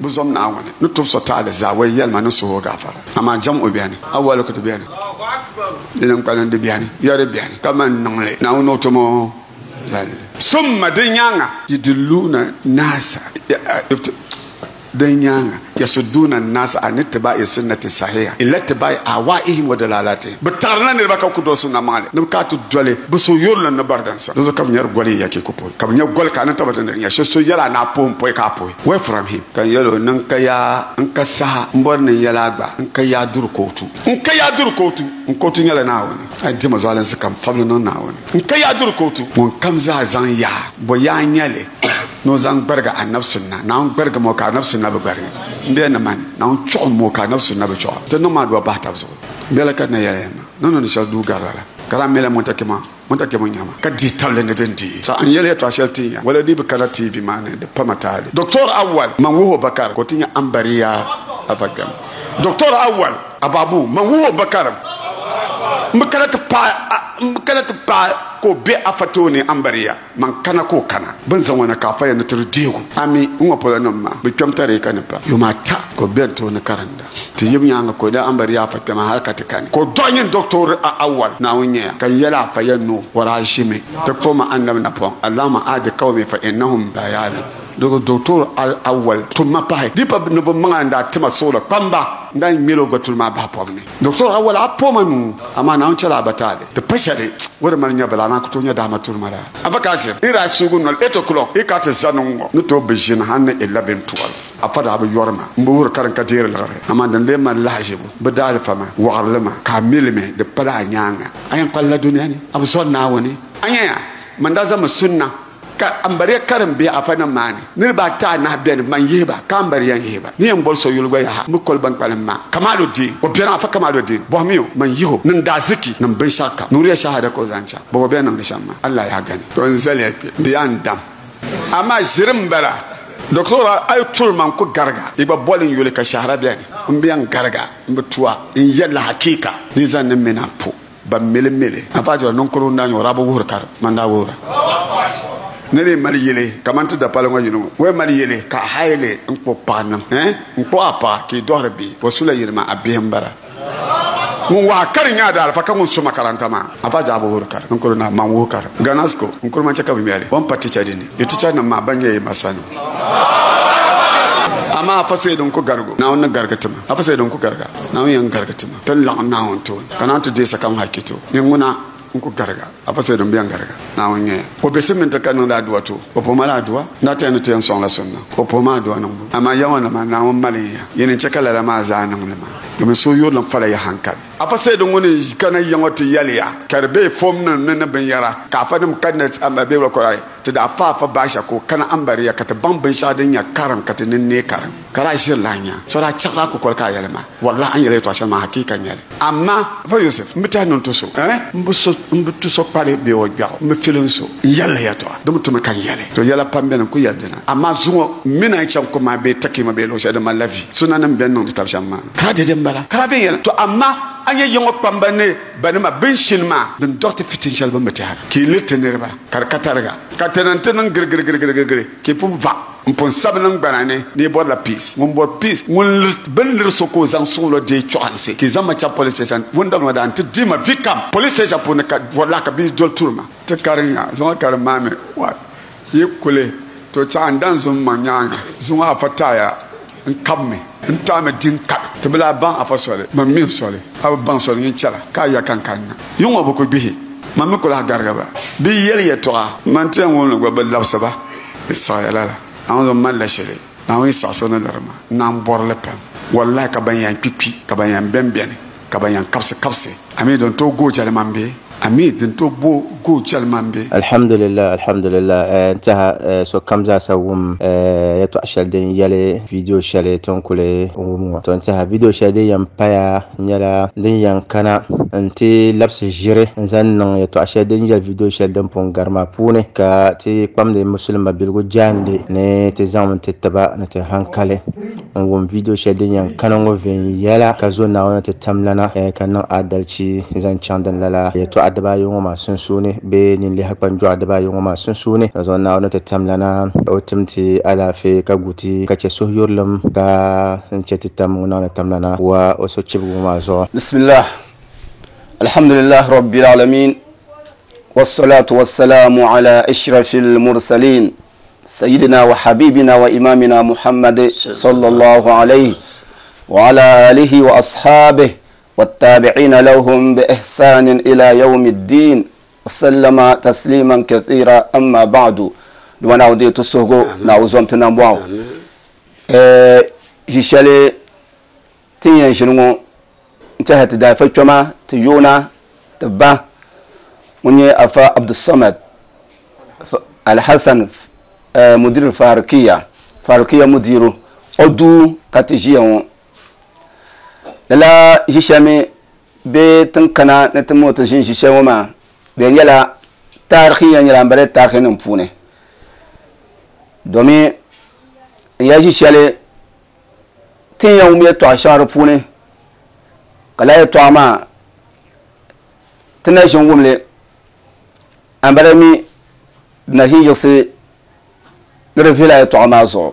Bɛ zom Naawuni ni tub so taali zaa wai yɛlima ni suhu o gaafara. Amaa jam o beni, awali ku ti beni, di ni kpalim di beni, yɛri beni, ka man niŋ li Naawuni o tum o zalli. Summa di nyaaŋa yudilluuna naasa, din nyaaŋa yasudduuna naasa an ittiba'i sunnati sahiha ila ittiba'i ahwa'ihim wa dalalatihim. Bɛ taɣirila niriba ka ku doli sunna maŋli ni bɛ ka ti doli bɛ suhuyurilim ni bariginsim. Di zuɣu ka bɛ nyari goli ya ka ku puhi, ka bɛ nya goli ka a ni tabata ni di nya shɛli so yɛli a ni a puhi m-puhi ka a puhi. Away from him. Ka n yɛl o, ni n ka yaa, n ka saha, m bɔri ni n yɛl a gba, n ka yaa duri kootu. N ka yaa duri kootu. N kootu nyɛla Naawuni. A yi dima zualinsi kam fabili niŋ Naawuni. N ka yaa duri kootu. Ŋunkam zaa zaŋ yaa, bɔ yaa n-nyɛ li ni o zaŋ gbarigi Anabi sunna? Naawuni gbarigimi o ka Anabi sunna bi gbarigi. M bela ni mani, Naawuni chuɣim o ka Anabi sunna bi chuɣim. Ti niŋ ma adua bahi tab zuɣu. M bela ka di na yɛli ya maa, ni niŋdi shɛli duu garila la, ka daa mela Muntakima. Muntakima nyama ka dihi tabili ni din dihi. Sa n yɛli yɛtɔɣa shɛli tin ya, wala di bi kana TV maa ni, di pama taali. Doctor Awal, man wuhi o Bakar ka o ti nya Ambariya afa kpɛm. Doctor Awal Ababu, man wuhi o Bakar m bi kana ti paai m bi kana ti paai ka o be afa tooni Ambariya, man kana ka o kana. Bɛ ni zaŋ o na ka afa yɛn ni ti di deegu. Ami, n ŋɔ polo nim maa, bɛ kpɛm tariika ni pa yuma ata ka o beni tooni karinda. Ti yim nyaaŋa ka o daa ambari afa kpɛma hal ka ti kani. Ka o dɔɣi nyin Doctor Awal, Naawuni nyɛya, ka n yɛli afa ya ni o daa ʒimi ti kpuɣi ma Annabi napɔŋ, Allahumma ahdi qawmi fa innahum la ya'lam. Dɔɣi Doctor Awal tum ma pahi, di pa ni bɛ maŋa n-daa ti ma suɣulo kpamba n-daa ŋmɛl o gba tuli maa bahi pɔbu ni. Doctor Awal, a po ma nuu, amaa Naawuni chɛla a ba taali. Di pa shɛli o di mali nya bala, amaa ku tooi nya dama turi ma daa. Afa Kasim, i daa suugi noli 8 o'clock, i ka ti zani ŋ-ŋɔ ni tooi bi ʒini hal ni 11, 12. Afa daa bi yɔri ma, m bi wuhiri ka din ka deeri liɣiri, amaa din lee mali lahaʒibu, bɛ daalifa ma, wɔɣirili ma, ka a mi li mi, di pala a nyaaŋa. A yɛn kpalila dunia ni, a bi zɔri Naawuni. A nyaya, man daa zaŋmi sunna ka ambariya karim bihi afanim maa ni. Niriba ata anahi beni, man yihi ba, ka ambariya n-yihi ba. Ni yɛn boli so yuli gba yaha, m bi koli ban kpalim maa. Kamaluddin, o beni, afa Kamaluddin, bɔhimi o, man yihi o ni n daaziki ni m binshɛɣukam. Nuuriya shahada ka o zaŋ chaŋ. Bɔbɔ bɛ ni niŋdi shɛm maa, Allah yaa gani. To n zaliya kpe, di yaa n dam. Amaa ʒiri m-bala. Doctor a yi turi ma n-ku gariga, yi gba boli n yuli ka shɛhira beni. M bi yɛn gariga, m bi tu a, n yɛlila hakiika. Ni zaŋ ni mini a po ban mili mili. Afa Jɔra ninkurigu n-daa nyɛ o daa bi wuhiri karim, man daa wuhira. Ni di mali yili kaman ti dapali ŋɔ yini ŋɔ, o yɛn mali yili ka a hayi li n-kpuɣi paɣa niŋ, eh, n-kpuɣi a paɣa ka yi dɔhiri bihi, o sula yili maa, a bihi m-bala. Ŋun wahi kari nyɛ a daalifa ka ŋun su makaranta maa afa jaa bi wuhiri kari. N kuri na man wuhi kari. Ganasco n kuri man chɛ ka bi ŋmɛli. O ni pa ticha dini. Yi ticha nim maa ban nyɛ yi masa nim. Amaa afa Sayidu n ku garigu. Naawuni ni garigi ti ma. Afa Sayidu n ku gariga. Naawuni yɛn garigi ti ma. Ti ni laɣim Naawuni tooni ka Naawuni ti deei sakam hakito. Ni ŋuna n ku gariga. Afa Sayidu n bi yɛn gariga. Naawuni nyɛya. O be siminti ka niŋdi adua to o puhi ma la adua. N daa tɛhi ni ti yɛn sɔŋla sunna ka o puhi ma adua niŋbu. Amaa ya ŋɔ nima Naawuni mali n ya. Yini n-chɛ ka lala maa zaa niŋ li maa. Domin suhuyurilim fala ya hankali. Afa Sayidu ŋuni kana ya ŋɔ ti yɛli ya ka di be fom nim ni ni binyɛra ka afa nim kanna bee wula kɔrɔ ti daa fa afa baasha ka o kana ambariya ka ti baŋ binshɛɣu din nyɛ karim ka ti nini neei karim ka daa ʒiri lahi nya so daa chaɣila a kukoli ka a yɛli ma wallahi a ni yɛli yɛtɔɣa shɛli maa hakiika n-nyɛ li. Amaa Afa Yusuf, m bi tɛhi ni n tu so, eh, m bi so, m bi tu so kpali bee o gbɛɣu, m bi filim so n yɛlila yɛtɔɣa, di mi tumi ka n yɛli. To yɛla pam beni n ku yɛli dina, amaa zuŋɔ m mi na yi chaŋ kum maa bee Takima bee luɣ shɛli din malila vi, sunanim bɛn niŋdi tab shɛm maa, ka dɛde m-bala, ka daa bɛn yɛli, To amaa a nya yiŋɔ kpamba ni banima bɛn shini maa, din dɔɣi ti fitin shɛli bɛ ni bi tɛhira, ka yi liri ti niriba ka di ka tariga, ka ti niŋ ti niŋ girigirigirigirigiri, ka yi pun va. N pun sabi niŋgbana ni ni yi bɔrila peace. Ŋun bɔri peace, ŋun liri bɛ ni liri so ka o zaŋ suɣulo deei chɔɣinsi ka yi zaŋ ma chaŋ police station. Ŋun dabili ma daa n-ti deei ma vi kam police station puuni ka wallahi ka bia doli turi ma. Ti karim ya, zuŋɔ karim maa mi wa yi kuli to chaɣ n dan zum maŋ nyaaŋa. Zuŋɔ afa taaya n kabi mi, n taai mi di n kabi. Ti bi lahi baŋ afa soli, man mi n soli. A bi baŋ soli nyin chɛla ka a ya ka n kanna. Yiŋɔ bi ku gbihi, man mi ku lahi garigi ba. Bɛ yi yɛli yɛtɔɣa, man ti yɛn wum li gba bɛ labisi ba. Di saɣiya lala. Naawuni zuɣu malila shɛli. Naawuni yi saɣi so ni liri ma, n naan bɔri li pam. Wallahi ka ban yɛn kpikpi, ka ban yɛn bɛnbɛni, ka ban yɛn kabisi kabisi. Amii din tooi gooi jɛlima m-be. Amii din tooi gooi jɛlima m-be. Alhamdulillah alhamdulillah n tɛha sokam zaasa wum yɛtɔɣa shɛli din yɛli video shɛli ti ni kuli wum ŋɔ. To n tɛha video shɛli din yɛn paya nyɛla din yɛn kana n-ti labisi ʒiri n-zaŋ niŋ yɛtɔɣ shɛli din yɛli vidiyo shɛli din pun gari maa puuni, ka ti kpamdi musulima biligu jaande ni ti zaŋmi ti tiba ni ti hankali. n wum video shɛli din yɛn kana ŋɔ viɛnyɛla ka zo Naawuni ti tamlana ka niŋ adalchi zaŋ chaŋ din lala yɛltɔɣa dibaayi ŋɔ maa sunsuuni bee ninliha kpanjɔɣu dibaayi ŋɔ maa sunsuuni. Ka zo Naawuni ti tamlana o tim ti alaafee ka gu ti ka chɛ suhuyurilim ka n chɛ ti tam ŋun Naawuni tamlana wa o sochibigi ŋɔ maa zuɣu. Bismillah, alhamdulillah rabbil alamin, wassalatu wassalamu ala ashrafil mursalin, sayyidina wa habibina wa imamina Muhammad sallallahu alayhi wa ala alihi wa ashabihi wattabi'ina lahum bi ihsanin ila yawmiddin, sallama tasliman kathira, amma ba'du. Duma na wudi tusugo na uzom tunambwao. Jishale tinyan shingo ntaha tidafa choma tiyuna tibba munye afa Abdussamad Alhassan mudir Farukiya, Farukiya mudiru odu katijiya lala jishame be tinkana na timoto jin jishawo ma be nyɛla tarihi ya nyɛla n bala tarihi nim puuni domin ya ʒi shɛli tin yɛn wum yɛltɔɣa shɛŋa di puuni ka lala yɛltɔɣa maa ti na ʒin wumli an bala mi di na ʒin yiɣisi ni di viɛla yɛltɔɣa maa zuɣu.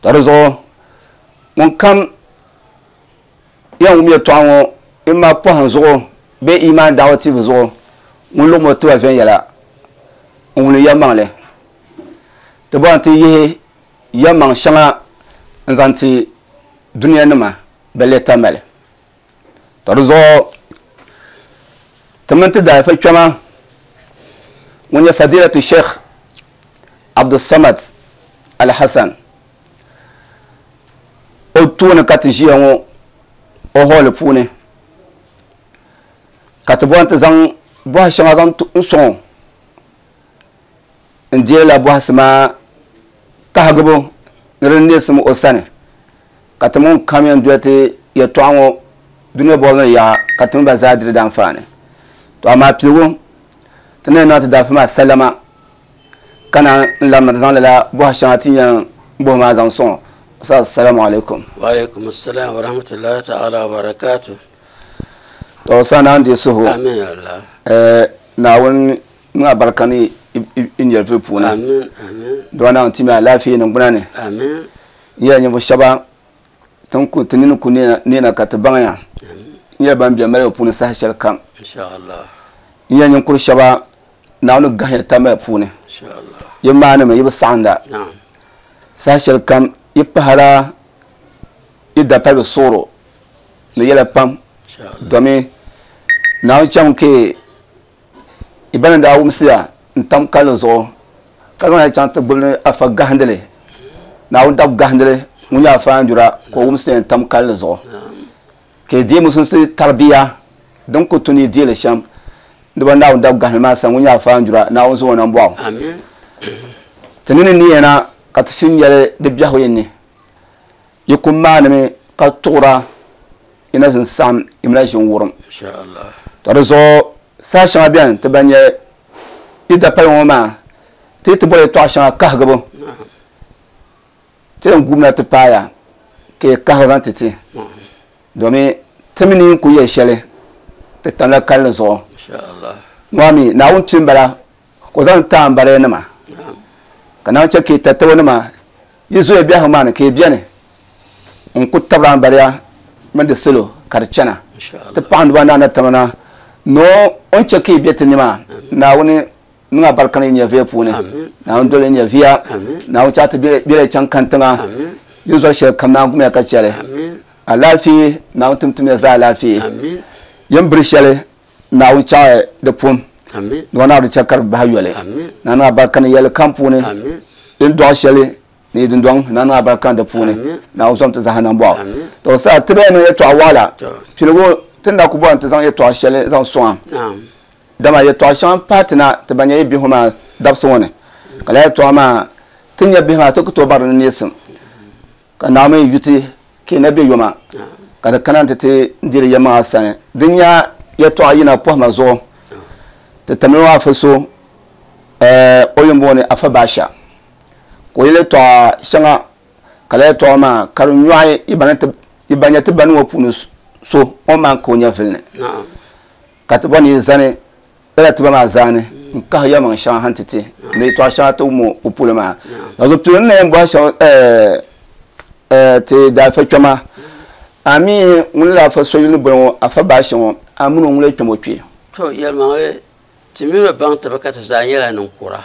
To di zuɣu ŋun kam yɛn wum yɛltɔɣa ŋɔ imma pɔhim zuɣu bee iman da'wa TV zuɣu ŋun luɣimi o tiba viɛnyɛla n wuli yɛlimaŋli ti bɔri ti yihi yɛlimaŋ shɛŋa n zaŋ ti dunia nima balle tamali. To di zuɣu ti mini ti daalifa kpɛma ŋun nyɛ Fadilatu Sheikh Abdussamad Alhassan o tooni ka ti ʒiya ŋɔ o hɔɔli puuni ka ti bɔri ti zaŋ bɔhi shɛŋa zaŋ n sɔŋ n deela bɔhisi maa kahigibu ni di neesim o sani ka ti ŋun kam yɛn doli ti yɛltɔɣa ŋɔ dunia bɔbu ni yaɣa ka ti mini ba zaa diri di anfaani. To amaa piligu ti ni niŋ ti daafa maa salama ka na n labimi ti zaŋ lala bɔhi shɛŋa ti yɛn bɔhi maa zaŋ sɔŋ. Assalamu alaikum. Wa alaikum assalam wa rahmatullahi ta'ala wa barakatuh. To sana n di suhu. Amin ya Allah. Naawuni niŋ abarika ni i nyɛvili puuni. Amin, amin. Dɔɔ naawuni ti mi alaafee ni gbuna ni. Amin. N yɛla ninvuɣu shɛba tin ku ti nini ku neena ka ti baŋya. N yɛla ban bɛ malibu puuni saha shɛli kam. Inshallah. N yɛla ninkuri shɛba naawuni gahiya tamali puuni. Inshallah. Yi maanimi yi bi saɣinda. Naam. Saha shɛli kam yi pahara yi dapalibi suɣuro ni yɛla pam. Inshallah. Domi naawuni chaŋ ke ibana daa wumsiya n tam kalli zuɣu ka zaŋ ya chaŋ ti gbubi afa gahindili naawuni dab gahindili ŋun nyɛ afa anjura ka o wumsiya n tam kalli zuɣu ka i deei musulunsi tarbiya din ku tu ni i deeli shɛm di ba naawuni dab gahindili maa sani ŋun nyɛ afa anjura naawuni zaŋ o na m-bɔɣu. Amin. Ti nini ni yɛna ka ti shini nyɛli di biɛhigu yin ni yi ku maanimi ka tuɣura ina zin saɣim imina ʒin wurim. Inshallah. To di zuɣu saha shɛŋa bɛni ti ban nyɛ yi dapali ŋɔ maa ti ti bɔri yɛltɔɣa shɛŋa kahigibu ti yɛn guumina ti paaya ka yi kahigi zaŋ ti ti domi ti mi ni ku yɛli shɛli ti tamla kalli zuɣu. Inshallah. Ŋɔ mi Naawuni pini bala ka o zaŋ taai m bala nima ka Naawuni chɛ ka yi tatabo nima yi zoya biɛhigu maa ni ka yi bɛni n ku tabira n bariya mini di salo ka di chana. Inshallah. Ti paɣindi ba naana tamana no o ni chɛ ka yi bɛ ti ni maa Naawuni niŋ abarika ni nyɛviya puuni. Amin. Naawuni doli nyɛviya. Amin. Naawuni chaɣ ti bɛla chaŋ kantiŋa. Amin. Yi zɔri shɛli kam Naawuni gumiya ka chɛli. Amin. Alaafee Naawuni timtimiya zaa alaafee. Amin. Yin biri shɛli Naawuni chaɣ di pum. Amin. Ni Naawuni chɛ ka di bahi yoli. Amin. Naawuni niŋ abarika ni yɛli kam puuni. Amin. Yin dɔɣi shɛli ni yi dundɔŋ Naawuni niŋ abarika ni di puuni. Amin. Naawuni zɔm ti zaha nambɔɣu. Amin. To saa ti bɛn niŋ yɛltɔɣa waɣila. To. Piligu ti ni daa ku bɔri ni ti zaŋ yɛltɔɣa shɛli zaŋ sɔŋ a. Naam. Dama yɛltɔɣa shɛŋa m-pahi ti na ti ban nyɛ yi bihi maa dabisi ŋɔ ni. Ka lala yɛltɔɣa maa ti nyɛ bihi maa ti ku tooi bari ni neesim. Ka Naawuni mi yuti ka yi na be yoma ka di kana nti ti diri yɛlimaŋa sani. Din nya yɛltɔɣa yina pɔhima zuɣu ti tamli maa afa so o yuli booni Afa Baasha ka o yɛli yɛltɔɣa shɛŋa Ka lala yɛltɔɣa maa ka di nyɔɣi yi ba nya ti ba ni ŋɔ puuni so o ni maan ka o nyɛvili ni. Ka ti bɔri ni yi zani lala ti ba maa zaani n-kahi yɛlimaŋ shɛŋa ha nti ti ni yɛtɔɣ shɛŋa ti wum o polo maa. Ka zuɣu pili n ni yɛn bɔhi shɛm ti daafa kpɛma, a mi ŋun la afa so yuli ni boli ŋɔ Afa Baashe ŋɔ, a mini o ŋun lee kpɛm o kpee? To yɛlimaŋli, ti mini o baŋ taba ka ti zaa nyɛla ninkura.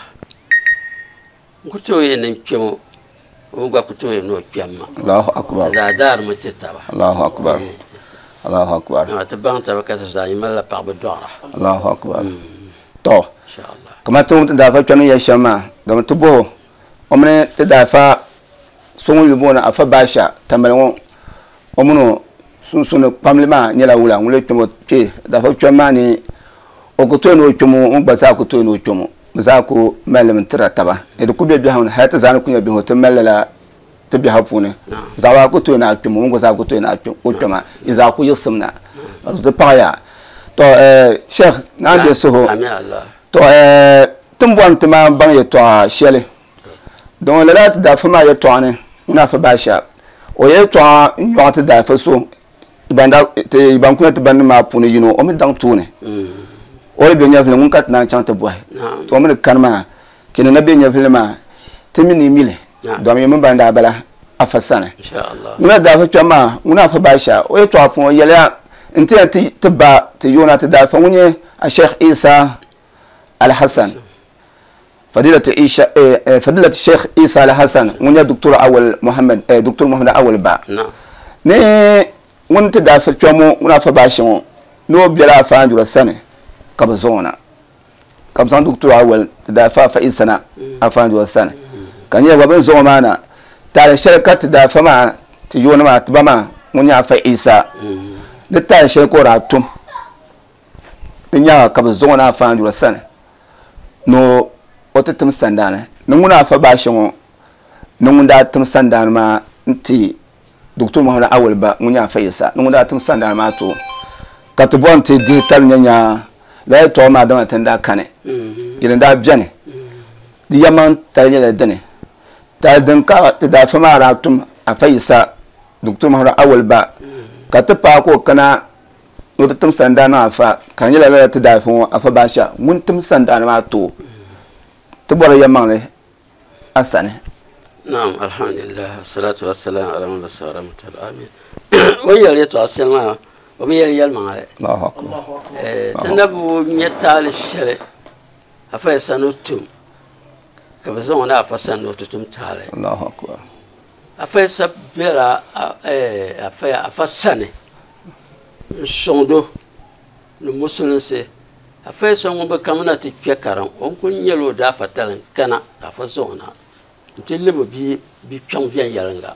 N ku tooi yɛli ni n kpɛm o, o mi gba ku tooi yɛli ni o kpɛm ma. Allahu akbar. Ti zaa daarimi ti taba. Allahu akbar. Allahu akbar. Dama ti baŋ taba ka ti zaa malila paɣaba dɔɣira. Allahu akbar. To, Inshallah. kamani ti wum ti daafa kpɛm ni yɛli shɛm maa, domi ti bɔh o, o mini ti daafa so ŋun yuli booni Afa Baasha Tamale ŋɔ, o mini o sunsuuni kpamli maa nyɛla wula? Ŋun lee kpɛm o kpee daafa kpɛm maa ni o ku tooi ni o kpɛm o, ŋun gba zaa ku tooi ni o kpɛm o. Bɛ zaa ku mali li mi n-tira taba. Ni di ku be biɛhigu ni, hali ti zaa ni ku nya biɛhigu ti mali lala ti biɛhigu puuni. Zaɣiba ku tooi ni a kpɛm o, ŋun gba zaa ku tooi ni o kpɛm a. Yi zaa ku yiɣisim na. Ka di ti paɣiya. Tɔ Sheikh, Naa deei suhu. Tɔ ti ni bɔri ni ti maan baŋ yɛtɔɣa shɛli. Doŋ lala ti daafa maa yɛtɔɣa ni, ŋuna Afa Baasha, o yɛtɔɣa n-nyɔɣi ti daafa so ban kuna ti bannim maa puuni yino o mi daŋ tooni o yi be nyɛvili ŋun ka ti naan chaŋ ti bɔhi to o mi ni kani maa kini na be nyɛvili maa ti mi ni mili domi yi mini ban daa bala afa sani ŋuna daa fi kpɛm maa ŋuna afa baasha o yɛtɔɣa puuni o yɛliya n ti yɛn ti ba ti yoona ti daa fa ŋun nyɛ a Sheikh Isa Al-Hassan Fadilatu Isha Fadilatu Sheikh Isa Al-Hassan ŋun nyɛ Doctor Awal Muhammad Doctor Muhammad Awal ba ni ŋun ti daa kpɛm ŋɔ ŋun afa baashi ŋɔ ni o bela afa Anjura sani ka bɛ zaŋ o na ka bɛ zaŋ Doctor Awal ti daa fa afa Isa na afa Anjura sani ka nyɛ gba bɛ ni zaŋ o maa na taali shɛli ka ti daa fa maa ti yooni maa ti ba maa ŋun nyɛ afa Isa di taali shɛli ka o daa tum Di nyaaŋa ka bɛ zaŋ o na Afa Andura sani ni o ti tim sandaani ni ŋuna Afa Baashe ŋɔ ni ŋun daa tim sandaani maa n-ti Doctor Muhammad Awal ba ŋun nyɛ Afa Yisa ni ŋun daa tim sandaani maa ti o ka ti bɔri nti dihi tali nya nya lala yɛltɔɣa maa dama ti ni daa kani yɛli n-daa beni di yɛlimaŋ tali nyɛla dini tali din ka ti daa fa maa daa tum Afa Yisa Doctor Muhammad Awal ba ka ti paai ka o kana ni o ti tim sandaani maa afa, ka di nyɛla lala ti daayifa ŋɔ afa Baasha ŋun tim sandaani maa ti o ti bɔri yɛlimaŋli a sani. Naam, alhamdulillah, salatu wa salam ala man basa rahmatal alamin. O ni yɛli yɛtɔɣa shɛli maa, o bi yɛli yɛlimaŋli. Allahu akbar. Ti na bi nya taali shɛli afa ya sani o tum, ka bɛ zaŋ o na afa sani ni o ti tum taali. Allahu akbar. Afa ya sa bela afa sani n sɔŋdo ni musulinsi. Afa Yisa ŋun bi kamina ti kpe karim, o ni kuli nyɛla o daafa tali n-kana ka afa zaŋ o na nti lib o bia bi kpiɔŋ viɛnyɛliŋga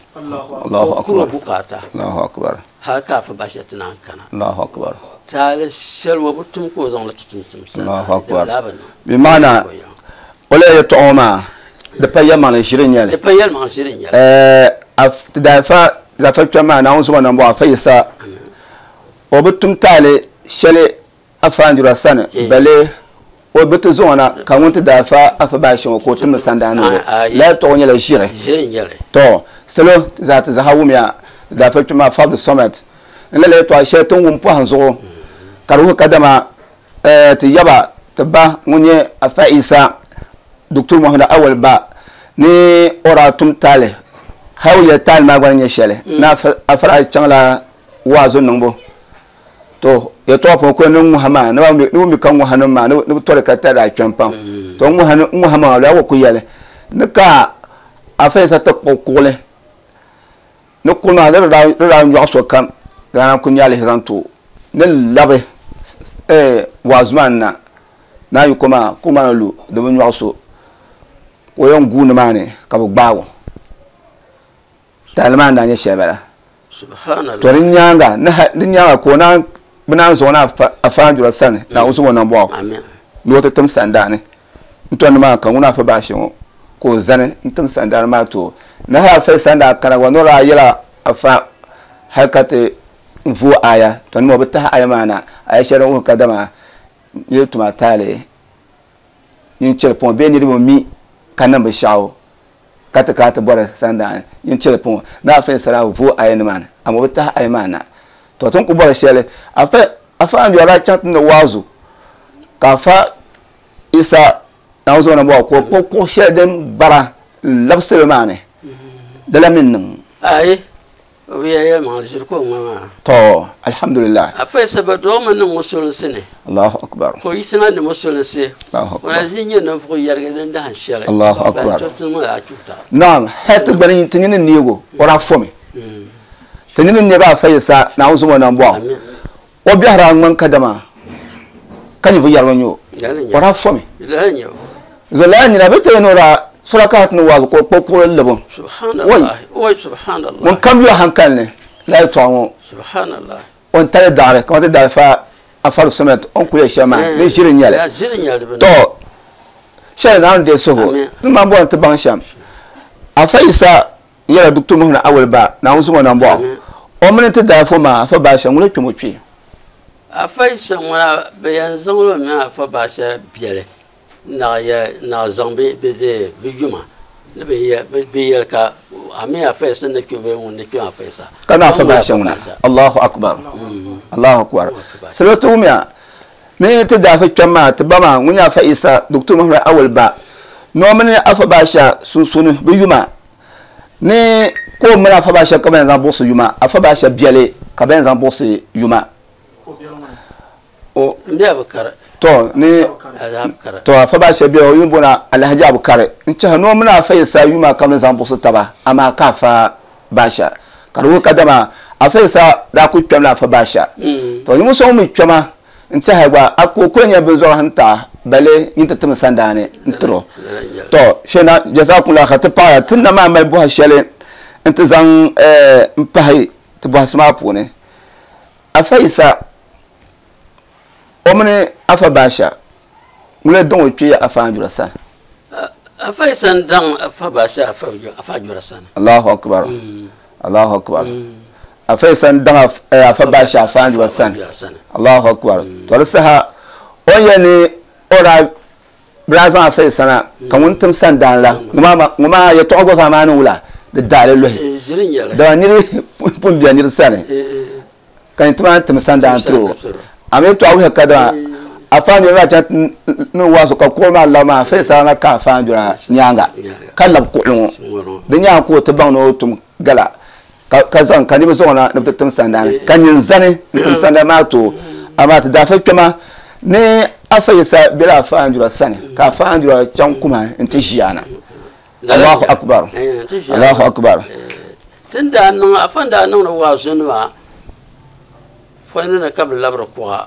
ka o kuri o bukaata hali ka afa Basha ti naan kana. Taali shɛli o bi tum ka o zaŋ li ti tum tim sani di bi lahi bi niŋ. Bi maana o lala yɛtɔɣa ŋɔ maa di pa yɛlimaŋli ʒiri n-nyɛ li. Di pa yɛlimaŋli ʒiri n-nyɛ li. Ti daafa Zafa kpɛm maa, Naawuni zoma nambɔɣu Afa Yisa, o bi tum taali shɛli Afa Andura sani, bale o bi ti zaŋ o na ka ŋun ti daa fa Afa Baashe ŋɔ ka o timdi sandaani ni o. Lala tɔɣu nyɛla ʒiri. Tɔ! Salo zaa ti zaha wumya ti daa fa kpɛm maa Afa Abdulsamad ni lala yɛtɔɣa shɛli ti ni wum pɔhim zuɣu ka di wuhi kadama ti yaba ti ba ŋun nyɛ Afa Isa Doctor Mohammed Awal ba ni o daa tum taali hali o yɛli taali maa gba ni nyɛ shɛli ni Afa daa chaŋla waazu niŋbu to yɛtɔɣa puuni kuli ni ŋuha maa ni bi mi ka ŋuha nim maa ni bi tɔri ka tari daa kpɛm pam to ŋuha maa laa ku yɛli ni ka Afa Isa ti kpuɣi kuɣuli Ni kuɣu maa di daa nyɔɣi sokam daa naan ku nya alihi zaŋ ti o ni labi waazu maa ni na naan yi ko maa kuɣu maa ni lu di bi nyɔɣi so ka o yɛn guui nimaani ka bɛ gbaag o. Taali maa n-daa nyɛ shɛli bala. To di nyaaŋa di nyaaŋa ka o naan bɛ naan zaŋ o na Afa Anjura sani Naawuni zom o nambɔɣu ni o ti tim sandaani. N-tɔri nimaani ka ŋuna Afa Baashe ŋɔ ka o zani n-tim sandaani maa ti o. Ni hali Afa Isa ni daa kana gba ni o daa yɛla Afa hali ka ti vooi aya, tɔ nima o bi tahi aya maa na, aya shɛli din wuhi kadama niriba tuma taali nyin chɛli pɔŋ bee niriba mi ka niŋ binshɛɣu. Ka ti kana ti bɔri sandaani yin cheli puŋɔ ni afa Yisa daa vooi ayi ni maani, amaa o bi tahi ayi maa na. To ti ni ku bɔri shɛli, afa Anjura daa chaŋ ti ni waazu ka afa Yisa Naawuni zuɣu na bɔhi ka o kpuɣi kuɣ shɛli din bara n-labi salo maa ni, di la mi niŋ. Ayi, o bi yɛli yɛlimaŋli, ʒiri ka o ŋma maa. To, alhamdulillah. Afa Yisa bɛ dɔɣi mi niŋ musulinsi ni. Allahu akbar. Ka o yiɣisina ni musulinsi. Allahu akbar. O na ʒi nyɛ ninvuɣ yɛrigi din dahin shɛli. Allahu akbar. Ban to ti niŋ la achuuta. Naam, hali ti gba ni ti nini neego, o daa fomi. Ti nini neegi Afa Yisa Naawuni zuɣu ŋɔ nambɔɣu. Amin. O biɛhi daa ŋmani kadama ka ninvuɣ yɛrigi n-nyɛ o. O daa fomi. Lala n-nyɛ o. Zuɣu lala nira bɛ ti yɛn ni o daa sura ka ti ni waazu ka o kpuɣi kuɣili libi. Subhanallah. Oi, subhanallah. Ŋun kam yo hankali ni lala yɛltɔɣa ŋɔ. Subhanallah. O ni tali daɣiri kamani ti daa fa Afar Sunnat o ni kuli yɛli shɛm maa ni ʒiri n-nyɛ li. To shɛli Naawuni deei suhigu ni maa bɔri ni ti baŋ shɛm. Afa Yisa nyɛla Dr. Muhammad Awal Ba Naawuni zuŋɔ nambɔɣu. O mini ti daa fo maa Afa Baasha ŋuna kpɛm o kpee. Afa Yisa ŋuna bɛ yɛn zaŋla o mini Afa Baasha biɛli naɣ zaŋ bɛ yuma ni bɛ yɛli ka a mi Afa Yisa ni kpe bee ŋun ni kpe Afa Yisa. Ka na Afa Baasha ŋuna. Allahu Akbar. Allahu Akbar. Salo ti wumiya ni ti daa fi kpɛm maa ti ba maa ŋun nyɛ Afa Yisa Dr. Muhammad Awal Ba ni o mini Afa Baasha sunsuuni bɛ yuma ni ka o mini Afa Baasha ka bɛ yɛn zaŋ buɣisi yuma Afa Baasha biɛli ka bɛ yɛn zaŋ buɣisi yuma. To ni to Afa Baasha biɛli o yuli booni Alhaji Abukari n chahi ni o mini Afa Yisa yuma ka bɛ ni zaŋ buɣisi taba amaa ka Afa Baasha ka di wuhi kadama Afa Yisa daa kuli kpɛmla Afa Baasha. To ninvuɣ so ŋun mi kpɛma n tɛha gba a ku kuli nyɛ binzɔri n ta bale nyin ti tim sandaani n tiri o. To shena jazakumullahu khair ti paɣaya ti na maa mali bɔha shɛli n ti zaŋ n pahi ti bɔhisi maa puuni. Afa Yisa o mini Afa Baasha ŋuna daŋ o kpee Afa Anjura sani. Afa Yisa n daŋ Afa Baasha Afa Anjura sani. Allahu akbar. Allahu akbar. Afa Yisa n daŋ Afa Baasha Afa Anjura sani. Allahu akbar. To di saha o ni yɛli ni o daa bɛ daa zaŋ Afa Yisa na ka ŋun tim sandaan la ŋɔ maa yɛtɔɣa gba zaa maa ni wula di daali luhi. Dama niri pun be niri sani ka nyin ti maa tim sandaan tiri o. A mi yɛtɔɣa wuhiya kadama Afa Anjura daa chaŋ ni waazu ka kuɣili maa labi maa Afa Yisa na ka Afa Anjura nyaaŋa ka labi kuɣili ŋɔ. Di nyaaŋa ka o ti baŋ ni o tum gala ka zaŋ ka niriba zaŋ o na ni bɛ ti tim sandaani ka nyin zani n-tim sandaani maa ti o. Amaa ti daa fa kpɛma ni Afa Yisa bela Afa Anjura sani ka Afa Anjura chaŋ kuma nti ʒi a na. Allahu Akbar! Allahu Akbar! Tin daa niŋ Afa n daa niŋdi waazunima fɔyini ni ka bɛ labiri kuɣa.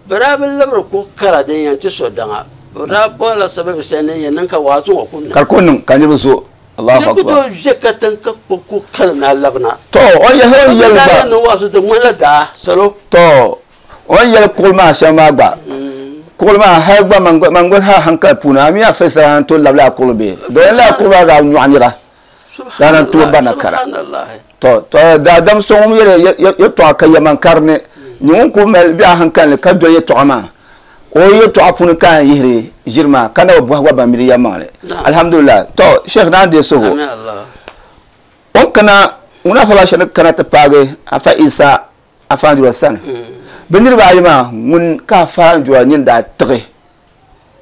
Bɛ daa bi labiri kuɣ kara din yɛn ti so daŋa. Bɛ daa bɔrila sababi shɛli din yɛn niŋ ka waazu ŋɔ ku niŋ. Ka di ku niŋ ka niriba zo. Allahu Ni ku Akbar. tooi ʒe katiŋ ka kpuɣi kuɣ kara ni a labina. To, o ni yɛli o ni Ka bɛ yɛli daa gba. yɛn niŋ waazu di ŋmanila daa salo. To, o ni yɛli kuɣili maa shɛm maa gba. Kuɣili maa hali gba man gba hali hankali puuni a mi a fɛsira n tooi labila a kuɣili bee? Domin lala kuɣili maa daa nyɔɣi nira. Daa na tooi barina kara. To, to daadam so ŋun yɛli yɛtɔɣa ka yɛman kari ni nyɛ ŋun ku mali biɛɣu hankali ni ka doli yɛtɔɣa maa, o yɛtɔɣa puuni ka a yɛn yihiri ʒiri maa ka na bi bɔhi gba ban miri yɛlimaŋli. Alhamdulillah. To, Sheikh naan deei suhu. O ni kana, ŋun Afa Basha ni kana ti paagi Afa Isa Afa Anjura sani, bɛ niriba ayi maa ŋun ka Afa Anjura nini daa tiɣi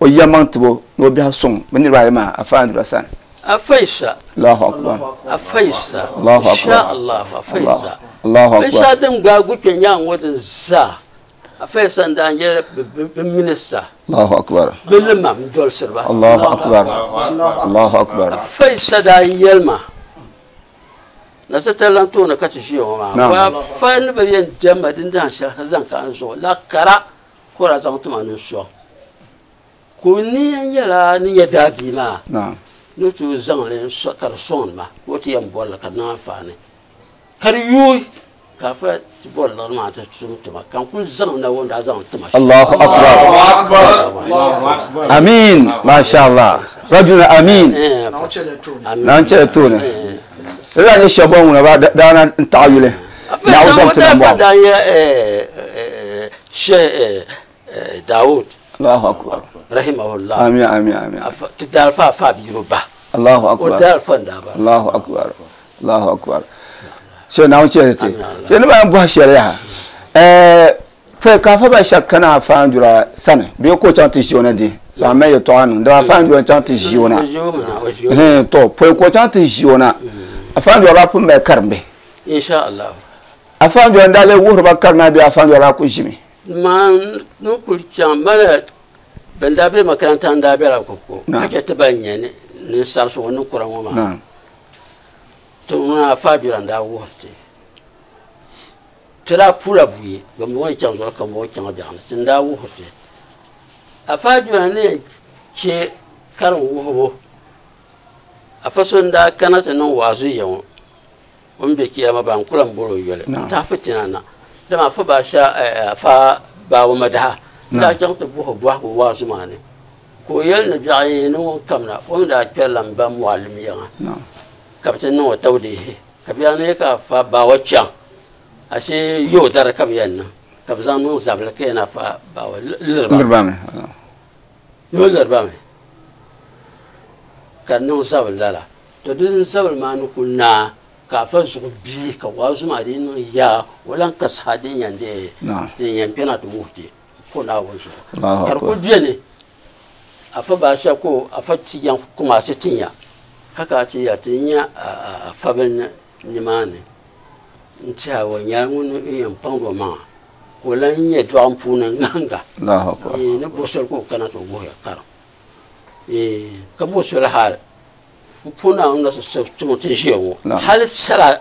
o yɛlimaŋ tibo ni o biɛhi suŋ bɛ niriba ayi maa Afa Anjura sani. Afa Isa. Allahu Akbar. Afa Isa. Allahu Akbar. Insha Allah, Afa Isa. Allahu Akbar. Binshɛɣu din gbaai Gukpe nyaŋ ŋɔ din zaa, Afa Isa n-daa nyɛ bɛ minista. Allahu Akbar. Bɛ limam n-dolsiri ba. Allahu Akbar. Allahu Akbar. Afa Isa daa yɛli ma, Nasitali lan tooni ka ti ʒiya ŋɔ maa, wa afa ni bi yɛn dɛmma din dahin shɛli ka zaŋ ka n zuɣu la kara ka o daa zaŋ ti ma ni n sɔŋ. Ka o nia nyɛla ni nyɛ daabia maa ni tooi zaŋ li ka di sɔŋdi ma ka o ti yɛn bɔri li ka di niŋ anfaani ka di yooi ka afa ti bɔri liɣiri maa ti tum tuma ka n kuli zaŋ na o ni daa zaŋ ti ma shɛm. Allahu Akbar. Amin. Masha Allah. Rajul amin. Naawuni chɛli tooni. Lala nyɛ shɛba bɔŋɔ ŋuna ba daa na n taɣi yuli. Naawuni zaŋ ti na bɔŋɔ. Daa nyɛ Sheikh Dawood. Allahu Akbar. Rahimahullah. Amin amin amin. Ti daa fa afa bia ba. Allahu akbar. O daal fanda ba. Allahu akbar. Allahu akbar. She na wuce te. She ni ba bu shɛli yaha. Pɔi ka afa ba shɛba kana afaandura sani bee ka o chaŋ ti ʒi o na di so a mali yɛltɔɣa niŋ dama afaandura chaŋ ti ʒi o na to pɔi ka o chaŋ ti ʒi o na afaandura daa pun mali karimbihi inshallah afaandura n daa lee wuhiri ba karim maa bee afaandura daa ku ʒimi maa ni kuli chaŋ mali ban daa be makaranta n daa bela koko ka chɛ ti ban nyɛ ninsarisi ŋɔ ni kura ŋɔ maa to ŋuna afaandura n daa wuhiri ti ti daa pula buyi ban bɔŋɔ yi chaŋ zuɣu ka bɔŋɔ chaŋ biɛɣuni ti n daa wuhiri ti afaajura ni chɛ karim wuhibu afa so n daa kana ti niŋ waazu ya ŋɔ o ni be kiyama ba n kula n boli o yoli n tahi fitina na dama afa baasha afa baawa madaha n daa chaŋ ti buhi bɔhigu waazu maa ni ka o yɛli ni biɛɣu yi ni ŋun kamina o mi daa kpɛrila n ba muallim yiŋa ka bi ti niŋ o tawdiihi ka biɛɣu ni ka afa baawa chaŋ ashe yau dare ka bi yɛn niŋ ka bi zaŋ niŋ zabili ka yɛn afa baawa liriba ni o liriba mi ka niŋ zabili lala to din zabili maa ni ku naa ka afa zuɣu bii ka waazu maa di niŋ yaa o lan ka saha din yɛn dee din yɛn kpɛna ti wuhi ti ko Naawuni zuɣu ka di ku beni afa baasha ko afa ti yɛn kumaasi ti nya ka ka ti ya ti nya afa bili nimaani n tiɛha o nyɛla ŋun yɛn kpaŋdi o maŋa ka o lan nyɛ dɔɣim puuni ŋahinga ni bo soli ka o kana ti o wuhiya karim ka bo soli hali n puuni Naawuni na timo ti ʒiya ŋɔ hali sala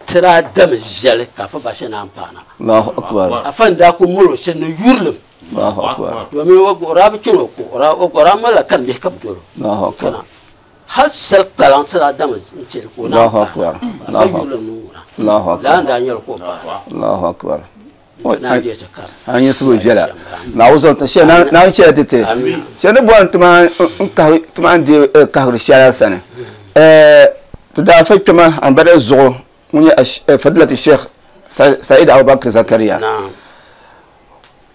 ti daa dami zali ka afa baasha naan paana afa n daa ku mali o shɛli ni yurilim domin o daa bi chani o ko o daa malila karimbihi ka bi doli o kana hal sal kpalaŋ ti daa dami n chɛli ka o naan paana afa yurilim ni ŋuna laa n daa nyɛli ka o paana Allahu akbar naan deei ti karim an yi subu viɛla naawuni naan chɛla ti ti shɛli ni bɔri ti maa n deei kahigiri shɛli sani ti daa fa kpɛma ambada zuɣu ŋun nyɛ fadilati Sheikh Said Abubakar Zakaria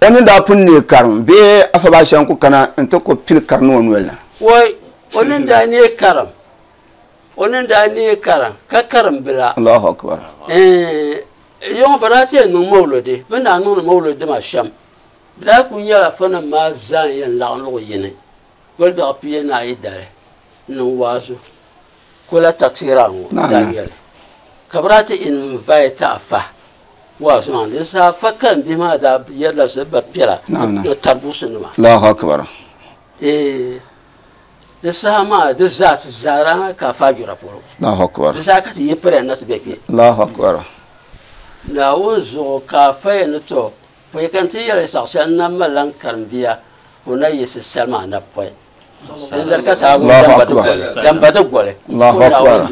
o ni daa pun neei karim bee afa baasha n ku kana n ti ku pili karim ni o noli na wai o ni daa neei karim o ni daa neei karim ka karim bila Allahu akbar yɔŋɔ bi daa ti yɛn niŋ mawuludi bi ni daa niŋdi mawuludi maa shɛm bi daa ku nyɛla fanim maa zaa n yɛn laɣim luɣu yini goli biɛɣu pia ni ayi dali n niŋ waazu kola taksira ŋɔ daa nyɛli ka bi daa ti invite afa waazu maa ni saha afa karim bihi maa daa yɛrila ba piɛla ni tarbusi nima Allahu akbar di saha maa di zaa ti zaara ka afa jura polo Allahu akbar di saha ka ti yi piriya na ti bɛ kpɛ Allahu akbar Naawuni zuɣu ka afa yɛn ni to pɔi ka n ti yɛli saɣ shɛli n na malila n karimbiya ka o na yiɣisi sali maa na pɔi din zali ka ti damba di goli Allahu akbar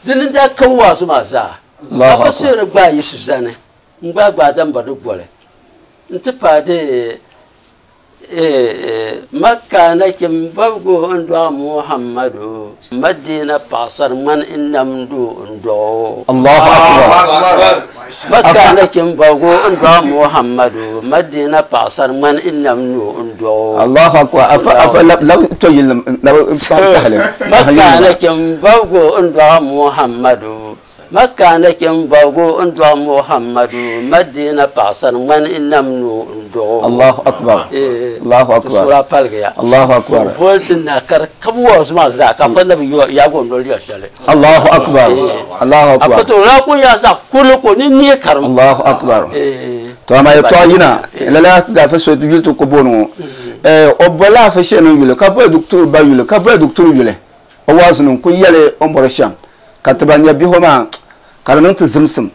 dini daa ka waazu maa zaa afa suyiri gbaa yiɣisi zani n gbaa gbaa damba di goli n ti paai di Makka nachim bɔbigu n dɔɣi Muhammadu Madina paɣasari ŋmani n namdu n dɔɣo Allahu akbar Makka nachim bɔbigu n dɔɣi Muhammadu Madina paɣasari ŋmani n namdu n dɔɣo Allahu akbar afa afa lab to yilim lab tahli Makka nachim bɔbigu n dɔɣi Muhammadu Makka nachim bɔbigu n dɔɣi Muhammadu Madina paɣasari ŋmani n namdu n dɔɣo Allahu akbar Allahu akbar sura palgiya Allahu akbar volti na kar kabu waazu maa zaa ka fa nabi yaago noli ya shɛli Allahu akbar Allahu akbar afa to la ko ya sa kuli ko ni ni karim Allahu akbar to ama yɛltɔɣa yina lala da fa so yuli ti ko booni ŋɔ o bola afa shɛli yuli ka boli doktor ba yuli ka boli doktor yuli o waazu nim ku yɛli o ni bɔri shɛm ka ti ban nyɛ bihi maa ka di niŋ ti zimsim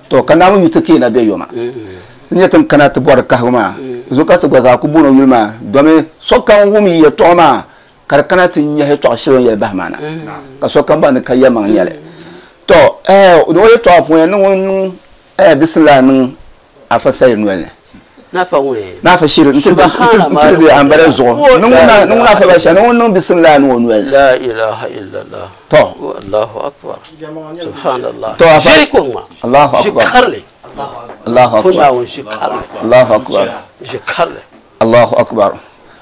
to ka Naawuni yu ti keena bɛ yoma n nyɛ tin kana ti bɔri kahigu maa zuɣu ka ti gba zaa ku booni o yuli maa domi sokam wum yi yɛltɔɣa maa ka di kana ti nyɛhi tɔɣa shɛli o ni yɛli bahi maa na ka sokam baŋ ni ka yɛlimaŋ nyɛli to ni o yɛltɔɣa puuni ni ŋun niŋ bisimila niŋ afa sayi noli ni nafa shiri n ti bi ambala zuɣu ni ŋun afa ba shɛli ni ŋun niŋ bisimila ni o noli la ilaha illallah to Allahu akbar subhanallah to afa shiri ko ma Allahu akbar shikarli Allahu akbar Naawuni shikarli Allahu akbar shikarli Allahu akbar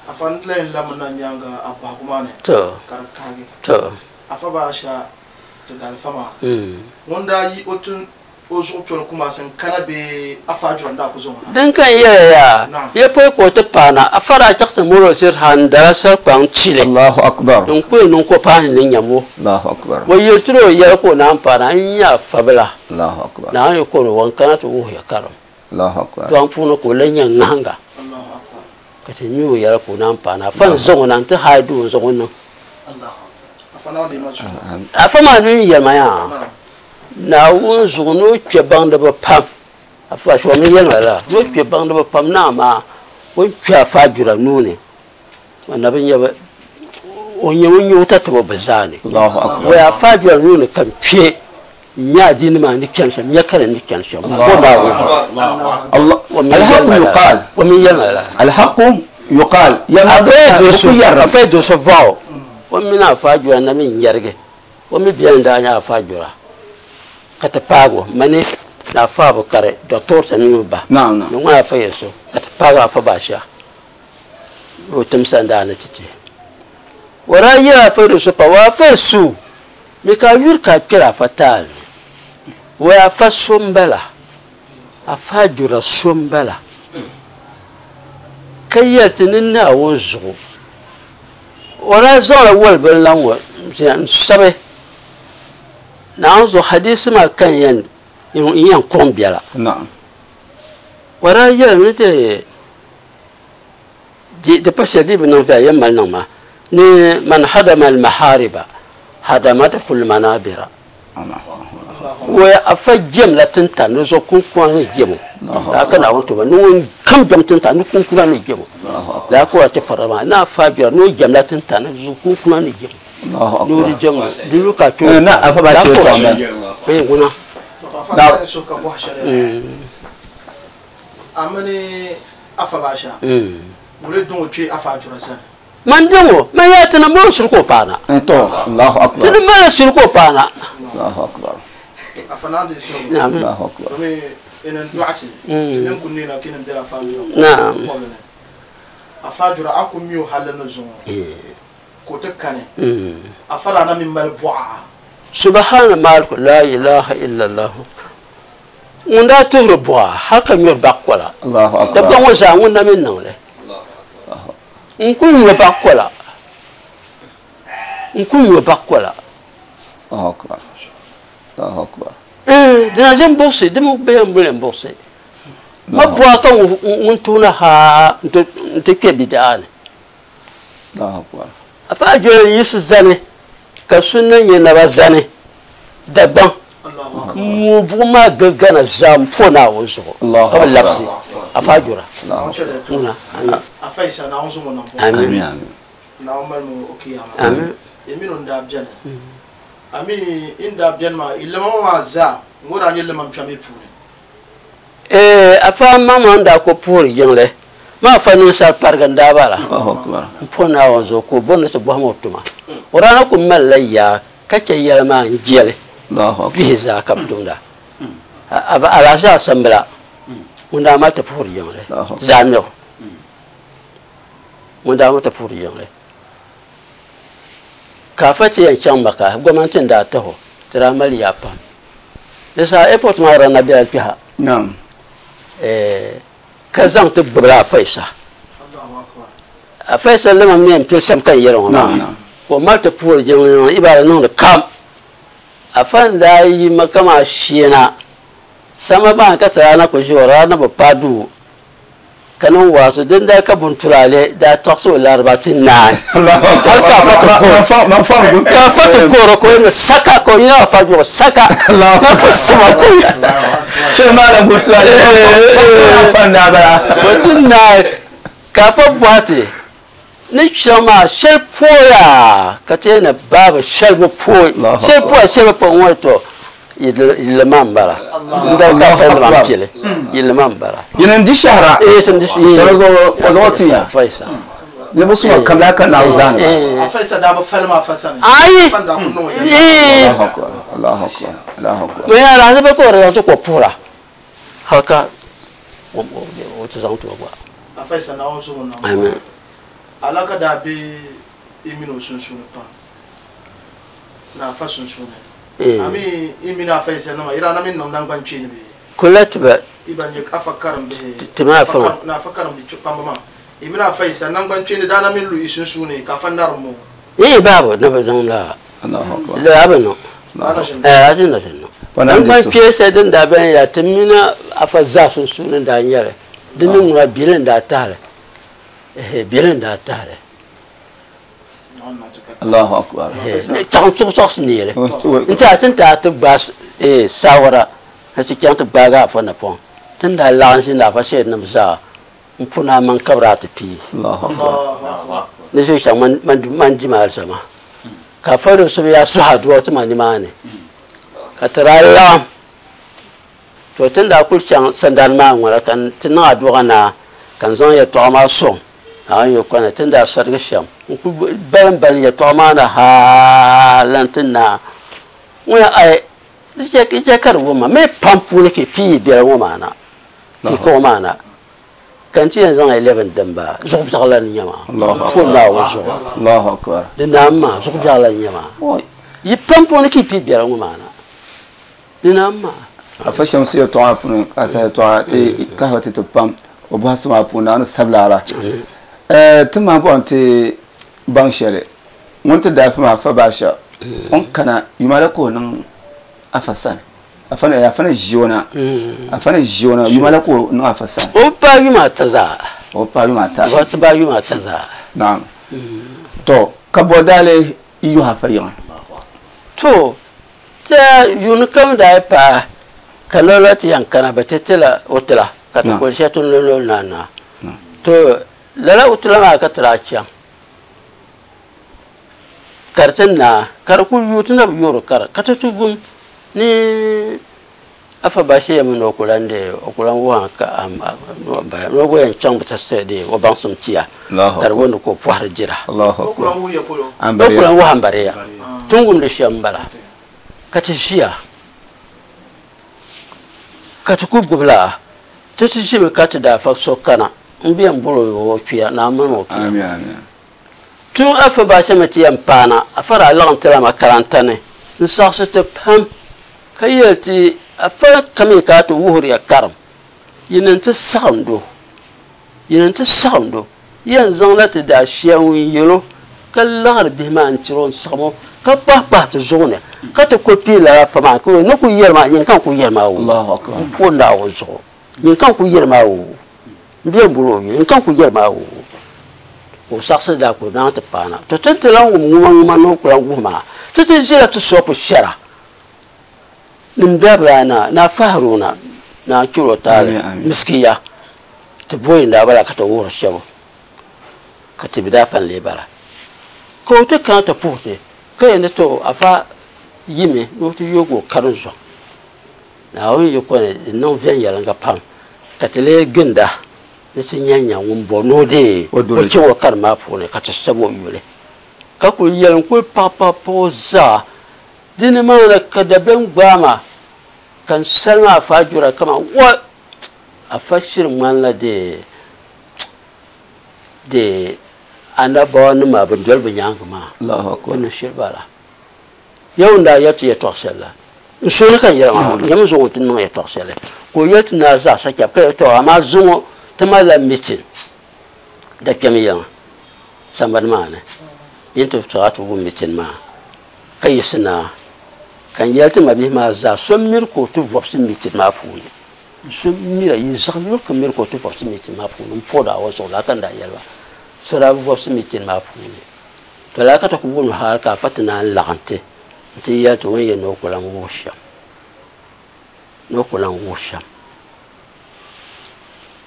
Afa n lahi lamina nyaaŋa a bɔhigu maa ni to ka di kahigi. To. Afa Baasha ti dalifa maa ŋun daa yi o tin o zuɣu choli Kumasi n-kana bee Afa Ajura n-daa ku zaŋ o na? Din ka n yɛli ya, Naam. ya pɔi ka o ti paana, Afa daa chaɣ ti mɔri o ziri ha n-dala sarikpaŋ chili. Allahu akbar. Din ku yɛn niŋ ka o paani ni nyam o. Allahu akbar. O yɛli tiri o yɛli ka o naan paana, n nya Afa bila. Allahu akbar. Naawuni yi kɔri o, ŋun kana ti wuhi ya karim. Allahu akbar. Tɔŋ puuni ka o lan nya ŋahiŋga. Allahu akbar. Ka ti mi o yɛli ka o naan paana. Afa n-zaŋ o na nti haai duu n-zaŋ o niŋ. Allahu akbar. Afa Naawuni deei ma zuɣu. Afa maa mi yɛli ma yaa, Naam. Naawuni zuɣu ni o kpe baŋdiba pam. Afa Baasha o mi yɛli ma lala, ni o kpe baŋdiba pam ni amaa o ni kpe Afa Ajura nuu ni, o na bi nya ba, o nyɛ ŋun nyɛ o tatabo bɛ zaa ni. Allahu akbar. O Afa Ajura nuu ni ka n kpe n-nya adiini maa ni chani shɛm, n-nya ka di ni chani shɛm. Ko Naawuni zuɣu. Allah. O mi Al-haqqu yɛli ma lala. yuqal. O mi yɛli ma lala. Al-haqqu yuqal. Yɛli ma Afa bɛ Idrisu, ku yɛri. Afa Idrisu vɔɣu, o mini Afa Ajura na mi n-yɛrigi. O mi beni daa nyɛ Afa Ajura ka ti paagi o mani ni Afa Abukari, Doctor Tanimu ba, Naam, naam. ni ŋun Afa Yesu ka ti paagi Afa Baasha ni o tim sandaa ni ti ti. O daa yɛli Afa Idrisu pa, o Afa Isu mi ka a yuri ka a kpɛri Afa taali ni. O Afa so m-bala, Afa Ajura so m-bala ka yɛli ti ni Naawuni zuɣu. O daa zaŋla woli bini la ŋɔ n-sabi Naawuni zuɣu hadiisi maa ka n yɛn kuɣim biɛla. Naam. O daa yɛli ni di pa shɛli di bi niŋ viɛla yɛn mali niŋ maa ni man hadama al-mahariba hadamathu al-manabira. O afa jɛmla tintani di zuɣu kunkuna ni jɛmo. Laa ka Naawuni tuma ni ŋun kam jɛm tintani ni kunkuna ni jɛmo. Laa ka o ti fara maa ni afa jɛra ni o jɛmla tintani di zuɣu kunkuna ni jɛmo. Ni o di jɛmo di lu ka kpɛ o. Na afa ba Laa che ka o tɔŋ ti bɛ. Ee, ŋuna. Afa ba so ka bɔhi shɛli. A mini Afa Baasha, wuli diŋ o kpe Afa Ajura sani? Man diŋ o, man yaa ti ni mali suli ka o paana. To, Allahu akbar. Ti ni mali suli ka o paana. Allahu akbar. Afa Naawuni deei suhigu. Naam. Allahu akbar. Domin inin dɔɣiti, ti mini ku neena ka inin bela Afa Ajura Naam. kɔbili ni. Afa Ajura a ku mi o halli ni zuŋɔ ka o ti kani. Afa daa na mi mali bɔɣa. Subhana malik la ilaha illallah. Ŋun daa tuhiri bɔɣa hal ka nyuri bak kola. Allahu akbar. Dabba ŋɔ zaa ŋun na mi niŋli. N ku nyuri bak kola. N ku nyuri bak kola. Allahu akbar. Allahu akbar. Dina ʒe m-buɣisi, di mi bɛ yɛn boli m-buɣisi. Ma bɔɣa ka ŋun tuhina ha nti kpe bidaa ni. Allahu akbar. Afa Ajura yiɣisi zani ka sunna nyɛ naba zani Dagbaŋ. Allahu akbar. N buɣim maa gili Ghana zaa m-po Naawuni zuɣu Allahu ka bɛ akbar. labisi Afa Ajura. Naawuni chɛ di. Ŋuna, amin. Afa Isa, Naawuni zuŋ o nam bɔŋɔ. Amin. Amin, amin. Naawuni mali mi o kiyama. Amin. E mini o n-daa beni. Ami n daa beni maa, i lima maa zaa, ŋɔ daa nyɛ limam kpɛm i puuni. Afa maŋmaŋ n-daa ku puhiri jiŋli. Maa afa ninsal parigi n-daa bala. Allahu akbar. M-po Naawuni zuɣu ka o bɔri ni ti bɔhim o tuma. O daa na ku malila yaa ka chɛ yɛli maa n-jɛli. Allahu akbar. Bihi zaa ka bɛ tumda. Alaasha asambila ŋun daa mali ti puhiri jiŋli. Allahu akbar. Zaa miɣu. Ŋun daa mali ti puhiri jiŋli. Ka afa ti yɛn chaŋ Maka, gomnanti n-daa tahi o, ti daa mali yaa pam. Di saha airport maa daa na bela kpɛha. Naam. Ka zaŋ ti gbubila Afa Isa. Allahu akbar. Afa Isa lima mi yɛn pili shɛm ka n yɛli ŋɔ maa. Naam, naam. Ka o mali ti puhiri jiŋli ŋɔ ibaada niŋdi kam. Afa n-daa yi Maka maa sheena. Sama maa ka ti daa na ku ʒi o daa na bi paai duu ka niŋ waazu. Din daa ka buntulaale daa tɔɣisi o lariba ti naai. Allahu akbar. Hal ka Afa ti kooro. Man fa, man fa, man fa. Ka Afa ti kooro ka o ni saka ka o yina Afa juɣu saka. Allahu Ma fa sama ku. Shɛ maa buntulaale. Afa n-daa bala. O ti naai ka Afa bɔhi ti ni chaŋ maa shɛli pooya ka ti yɛli ni baaba shɛli bi pooi. Allahu Shɛli akbar. pooya shɛli bi pooi ŋɔ to yilli maa m-bala. N-daa ka Afa yilli maa m-pili. Yilli maa m-bala. Yini n-di shɛhira. Ti n-di Tɔri zuɣu, o zuɣu ti ya. Afa Isa. Ninvuɣ suma kam laa ka Naawuni zaani ba. Afa Isa daa bi fali maa Afa sani. Ayi. Afa n-daa ku niŋ o yɛla. Allahu akbar, Allahu akbar, Allahu akbar. Mɛ yaa lahi bɛ ka o zaŋ ti ko puhira. Hal ka o ti zaŋ ti o gba. Afa Isa, Naawuni zuŋ o nam. Amin. Alaka daa be i mini o sunsuuni pam ni afa sunsuuni. A mi i mini afa Yisa nima yi daa na mi niŋ naŋgban kpeeni bee? Kula ti ba. I ban nyɛ afa karimbihi Ti mini afa ŋɔ. Ni afa karimbihi kpamba maa. I mini afa Yisa naŋgban kpeeni daa na mi lu i sunsuuni ka afa narim o? Ii baabu na bi niŋ lala. Lala bi niŋ. A ti na ʒin niŋ. Naŋgban kpee shɛli din daa beni yaa ti mini afa zaa sunsuuni n-daa nyɛli. Di mi ŋuna bili n-daa tahili. Ehe bili n-daa tahili. Allahu akbar. Chaŋ chuɣu chɔɣisi neeli. N-ti a ti ni daa ti gbaai saawara ka ti chaŋ ti gbaagi afa napɔŋ. Ti ni daa laɣim ʒini afa shɛlinima zaa m-puni a maŋ ka bɛ daa ti pii. Ni ʒe shɛŋ man di ma alizama. Ka afa do so yaa suhi aduwa ti ma nimaani. Ka ti daa laɣim. To ti ni daa kuli chaŋ sandani maa ŋuna ka ti niŋ aduwa naa ka n zaŋ yɛltɔɣa maa sɔŋ Naawuni yi kɔna ti ni daa sarigi shɛm n-kuli balimbalim yɛltɔɣa maa ni hal lan ti naai ŋuna ai di chɛ ka di wum ma mi pam puuni ka yi pii yi biɛla ŋɔ maa na ti kɔŋ maa na ka n ti yɛn zaŋ ya lɛbi n dimba zuɣubiɛɣu la ni nyɛ maa pun Naawuni zuɣu di naam maa zuɣubiɛɣu la ni nyɛ maa yi pam puuni ka yi pii biɛla ŋɔ maa na di naam maa. Afa Shamsi yɛltɔɣa puuni ka a sa yɛltɔɣa ti kahiba ti ti pam o bɔhisi maa puuni Naawuni sabila a la. Ti maa bɔhim ti baŋ shɛli ŋun ti daa fi maa Afa Baasha o ni kana yuma la ka o niŋ Afa sani. Afa ni Afa ni ʒi o na Afa ni ʒi o na yuma la ka o niŋ Afa sani. O paai yuma ata zaa. O paai yuma ata. O ti paai yuma ata zaa. Naam. To ka bɔ daa lee yuhi Afa yiŋa? To Ti yuuni kam daa yi paai ka lɔlɔ ti yɛn kana bɛ ti tila o tila ka ti kuli shɛli ti ni lɔlɔ na na. To lala o tila maa ka ti daa chaŋ ka di ti naai ka di kuli yuui ti na bi yoori kara ka ti ti wum ni Afa Bashir yɛmi ni o ku lan deei o ku lan wuhi ka ni o gba yɛn chaŋ bi ti deei o baŋsim tia ka di wuhi ni ka o pɔhiri jira. O ku lan wuhi ya polo. O ku lan wuhi ambariya. Ti ni wumdi shɛm m-bala ka ti ʒiya ka ti ku gbubi la ti ti ʒimi ka ti daafa so kana m-bi yɛn bol o o kpiya ni a mini o kpiya. Tun Afa Bashir mi ti yɛn paana Afa daa laɣim ti la makaranta ni n-saɣisi ti pam. Ka yɛli ti, Afa kami ka a ti wuhiri ya karim, yi ni ti saɣind o, yi ni ti saɣind o, yɛn zaŋla ti daashia ŋun yɛl o, ka laɣiri bihi maa n-tiri o n-saɣim o, ka kpahikpahi ti zuɣu ni, ka ti kul pii lala afa maa, ka o ni kul yɛli maa, nyini ka n kul yɛli maa woo, m puhi Naawuni zuɣu, nyini ka n kul yɛli maa woo, m be m-bol o yuli, nyini ka n kul yɛli maa woo. Ka o saɣisi daa kul naŋ ti paana. To ti ni ti lan wum ŋumaŋuma ni o ku lan wuhi maa, ti ti ʒila ti sɔpu shɛra. Nim dabila na na Haruna na chiro taali miskiya ti boyi n daa bala ka ti wuhiri shɛbu ka ti bi daa fan lee bala ka o ti kana ti puhi ti ka yɛn ni to afa yimi ni o ti yoogi o karim zɔŋ Naawuni yi ko ni di niŋ viɛnyɛliŋga pam ka ti lee ginda ni ti nya nya ŋun bɔri ni o deei o chaŋ o karim maa puuni ka ti sabi o yuli ka kuli yɛli n kuli paɣi paɣi paɣi o zaa. Di ni maa ni ka dabiɛm gbaai ma, ka n salima afa Ajura kaman wa! Afa shiri ŋmanila di anabawanima bɛn doli bɛ nyaaŋa maa, bɛ ni shiri bala. Yawɛ ni daa yɛli ti yɛtɔɣ shɛli la, n suhu ni ka n yɛli maa, nyami zuŋɔ ti niŋ yɛtɔɣ shɛli. Ka o yɛli ti naa zaɣisa chɛbu ka yɛli, Tɔ, amaa zuŋɔ ti malila mitin dakpɛm yiŋa sambani maa ni, yi ni ti tɔɣi a ti wum mitin maa. Ka yiɣisi naa, ka n yɛli ti mabihi maa zaa, so miri ka o ti vɔbisi mitin maa puuni. So mira, yi zaɣ yino ka miri ka o ti vɔbisi mitin maa puuni. M po Naawuni zuɣu, lala ka n daa yɛli ba. So daa bi vɔbisi mitin maa puuni. To lala ka ti ku wum hal ka afa ti naan laɣim ti nti yɛli ti o ni yɛn ni o ku lan wuhi shɛm, ni o ku lan wuhi shɛm.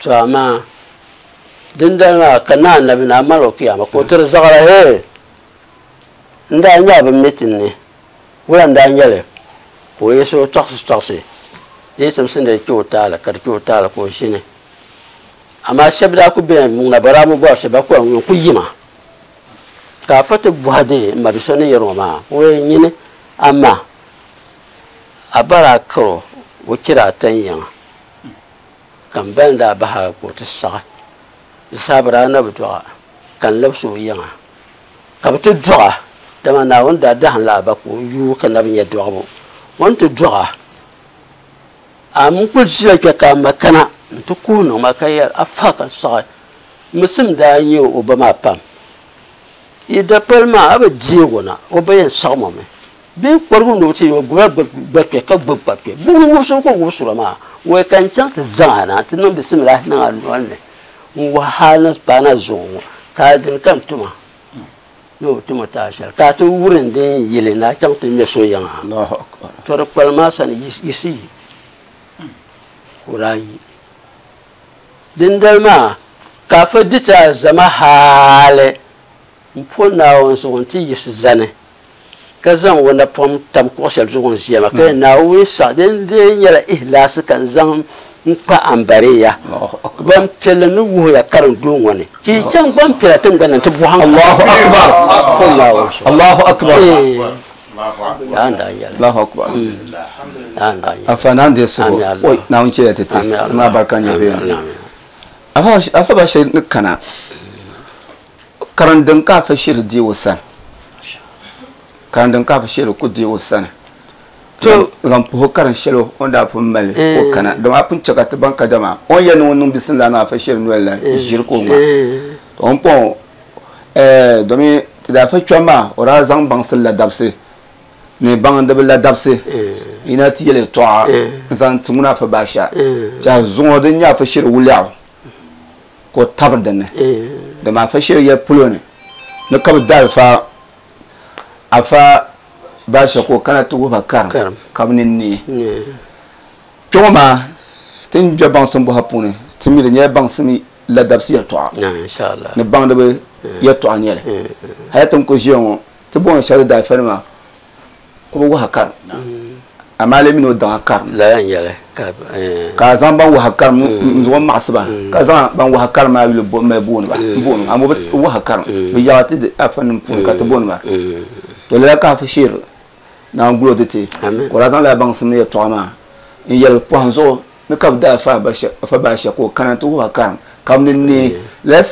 To amaa dindali maa ka naa nabi naa mal o kiyama ka o tiri zaɣira, Hee! N daa nya a bi mi ti ni, wula n-daa nyɛ li? Ka o yiɣisi o tɔɣisitɔɣisi di yi simsi ni di kpe o taali, ka di kpe o taali ka o ʒini. Amaa shɛba daa kul beni ŋuna bɛ daa bi bɔri shɛba ka ŋun kul yima. Ka afa ti bɔhi di m mabi so ni yɛri ŋɔ maa, o yɛn nyini a ma a ba daa kar o, o chɛri a tan yiŋa, ka m ba ni daa bahi a ka o ti saɣi. Di saha bɛ daa na bi dɔɣ a. Ka n labisi o yiŋa ka bɛ ti dɔɣa, dama Naawuni daa dahim la a ba ka o yuui ka na bi nya dɔɣibu. O ni ti dɔɣa, a mi kul ʒila kpe ka a ma kana nti kuhi niŋ ma ka yɛli, A fa ka n sɔɣi. Misim daa nya o ba maa pam. Yi dapali maa, a bi deeg o na, o ba yɛn sɔɣim o mi. Bee kɔrigu ni o ti o gbibila gbali kpe ka gbibi kpa kpe. Buɣim wubisibu ka o wubisir o maa. Wai ka n chaŋ ti zaŋ a na nti niŋ bisimilahi niŋ a noli ni n-wuhi hal ni paai na zuŋɔ ŋɔ, taali dini ka n tum a ni o bi tum o taali shɛli, ka a ti wurim din yili ni a chaŋ ti ŋme so yiŋa. Tɔ di kpalim maa sani yiɣisi yi, ka o daa yi. Dindali maa ka afa di ti alizama hali m-po Naawuni zuɣu nti yiɣisi zani, ka zaŋ o napɔŋ tam kuɣ shɛli zuɣu n-ʒiya maa, ka yɛli, Naawuni saɣi, din lee nyɛla ihlaasi ka n zaŋ n-kpa ambariya gbampiɛlli ni wuhiya karim duu ŋɔ ni, ti yi chaŋ gbampiɛla tiŋgbani ni nti bɔhim Allahu Akbar! Po Naawuni zuɣu. Allahu Akbar! Yaa n daa yɛli. Allahu Akbar! Yaa n daa yɛli. Afa naan deei suhu. Amin Allah. Oi, Naawuni chɛliya ti ti. Amin Allah. Maa barika nyɛ bɛ. Amin Allah. Afa ba shɛli ni kana. Karim din ka afa shiri deei o sani. Karim din ka afa shiri ku deei o sani. To zaŋ puhi karim shɛli o ni daa pun mali o kana. Dama a pun chɛ ka ti baŋ kadama o ni yɛli ni o niŋ bisimila niŋ afa shiri noli la ʒiri ka o ŋma. To o ni pɔŋ domi ti daa fa kpɛm maa o daa zaŋ baŋsi ladabisi ni baŋdibi ladabisi yina ti yɛli yɛltɔɣa n-zaŋ ti ŋuna afa baasha. Chɛ zuŋɔ din nyɛ afa shiri wuliɛɣu ka o tabiri dinni. Dama afa shiri yɛli polo ni ni ka bɛ da afa baasha ka o kana ti wuhi ba karim ka bɛ nini neei. Kpe ŋɔ maa ti ni be baŋsim bɔha puuni ti mi di nyɛla baŋsim ladabisi yɛltɔɣa ni baŋdiba yɛltɔɣa n-nyɛ li. Hali ti ni kuli ʒiya ŋɔ ti booni shɛli daafanima ka bi wahi karim amaa lee mini o daŋa karim ka a zaŋ ban wahi karim n zaŋ maɣasi ba ka zaŋ ban wahi karim maa yuli mali booni ba booni amaa bi wahi karim bi yaɣa ti afa nim puuni ka ti booni ba to lala ka afa shiri naan gulo ti ti ka o daa zaŋ lala baŋsim ni yɛltɔɣa maa n yɛli pɔhim zuɣu ni ka bi daa fa afa baasha ka o kana ti wuhi ba karim ka bi ni neei lala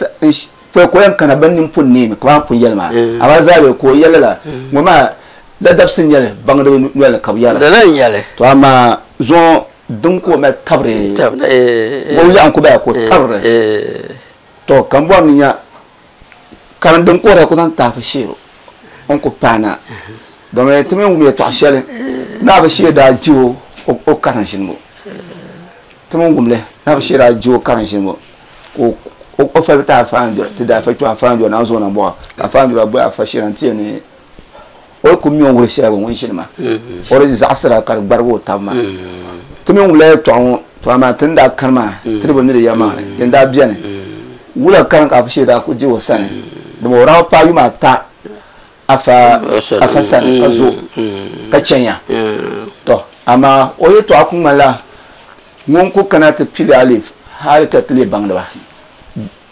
pɔi ka o yɛn kana bɛ nini pun neemi ka baa pun yɛli maa amaa zaa bɛ ka o yɛli la ŋɔ maa ladabisi n-nyɛli baŋdiba noli ni ka bɛ yɛra Lala n-nyɛli. To amaa zuŋɔ din ka o mali tabiri ŋɔ yaɣa n-ku bala ka o tabiri to ka m bɔri ni nya karim din ka o daa ku zaŋ taafi sheer o ni ku paai na domi ti mi wum yɛltɔɣa shɛli ni a bi shee daa je o karim ʒinibu ti mi wum li ni a bi shee daa je o karim ʒinibu ka o fali ti afa ti daa fa kpɛ afa n na zo na bɔɣa ka afa n bɔhi afa shee na n ti yɛli ni o ku mi o wuli shɛli ŋun ʒini maa o di zaɣasira ka di gbarigi o tabi maa ti mi wumla yɛltɔɣa ŋɔ to amaa ti ni daa kani maa ti di bi mi di yɛlimaŋli din daa bɛni wula karim ka afa shee daa ku je o sani dama o daa paai yuma ata afa afa sani ka zo ka chɛnya to amaa o yɛltɔɣa ku ŋmanila ŋun ku kana ti pili alif hali ka ti leei baŋdiba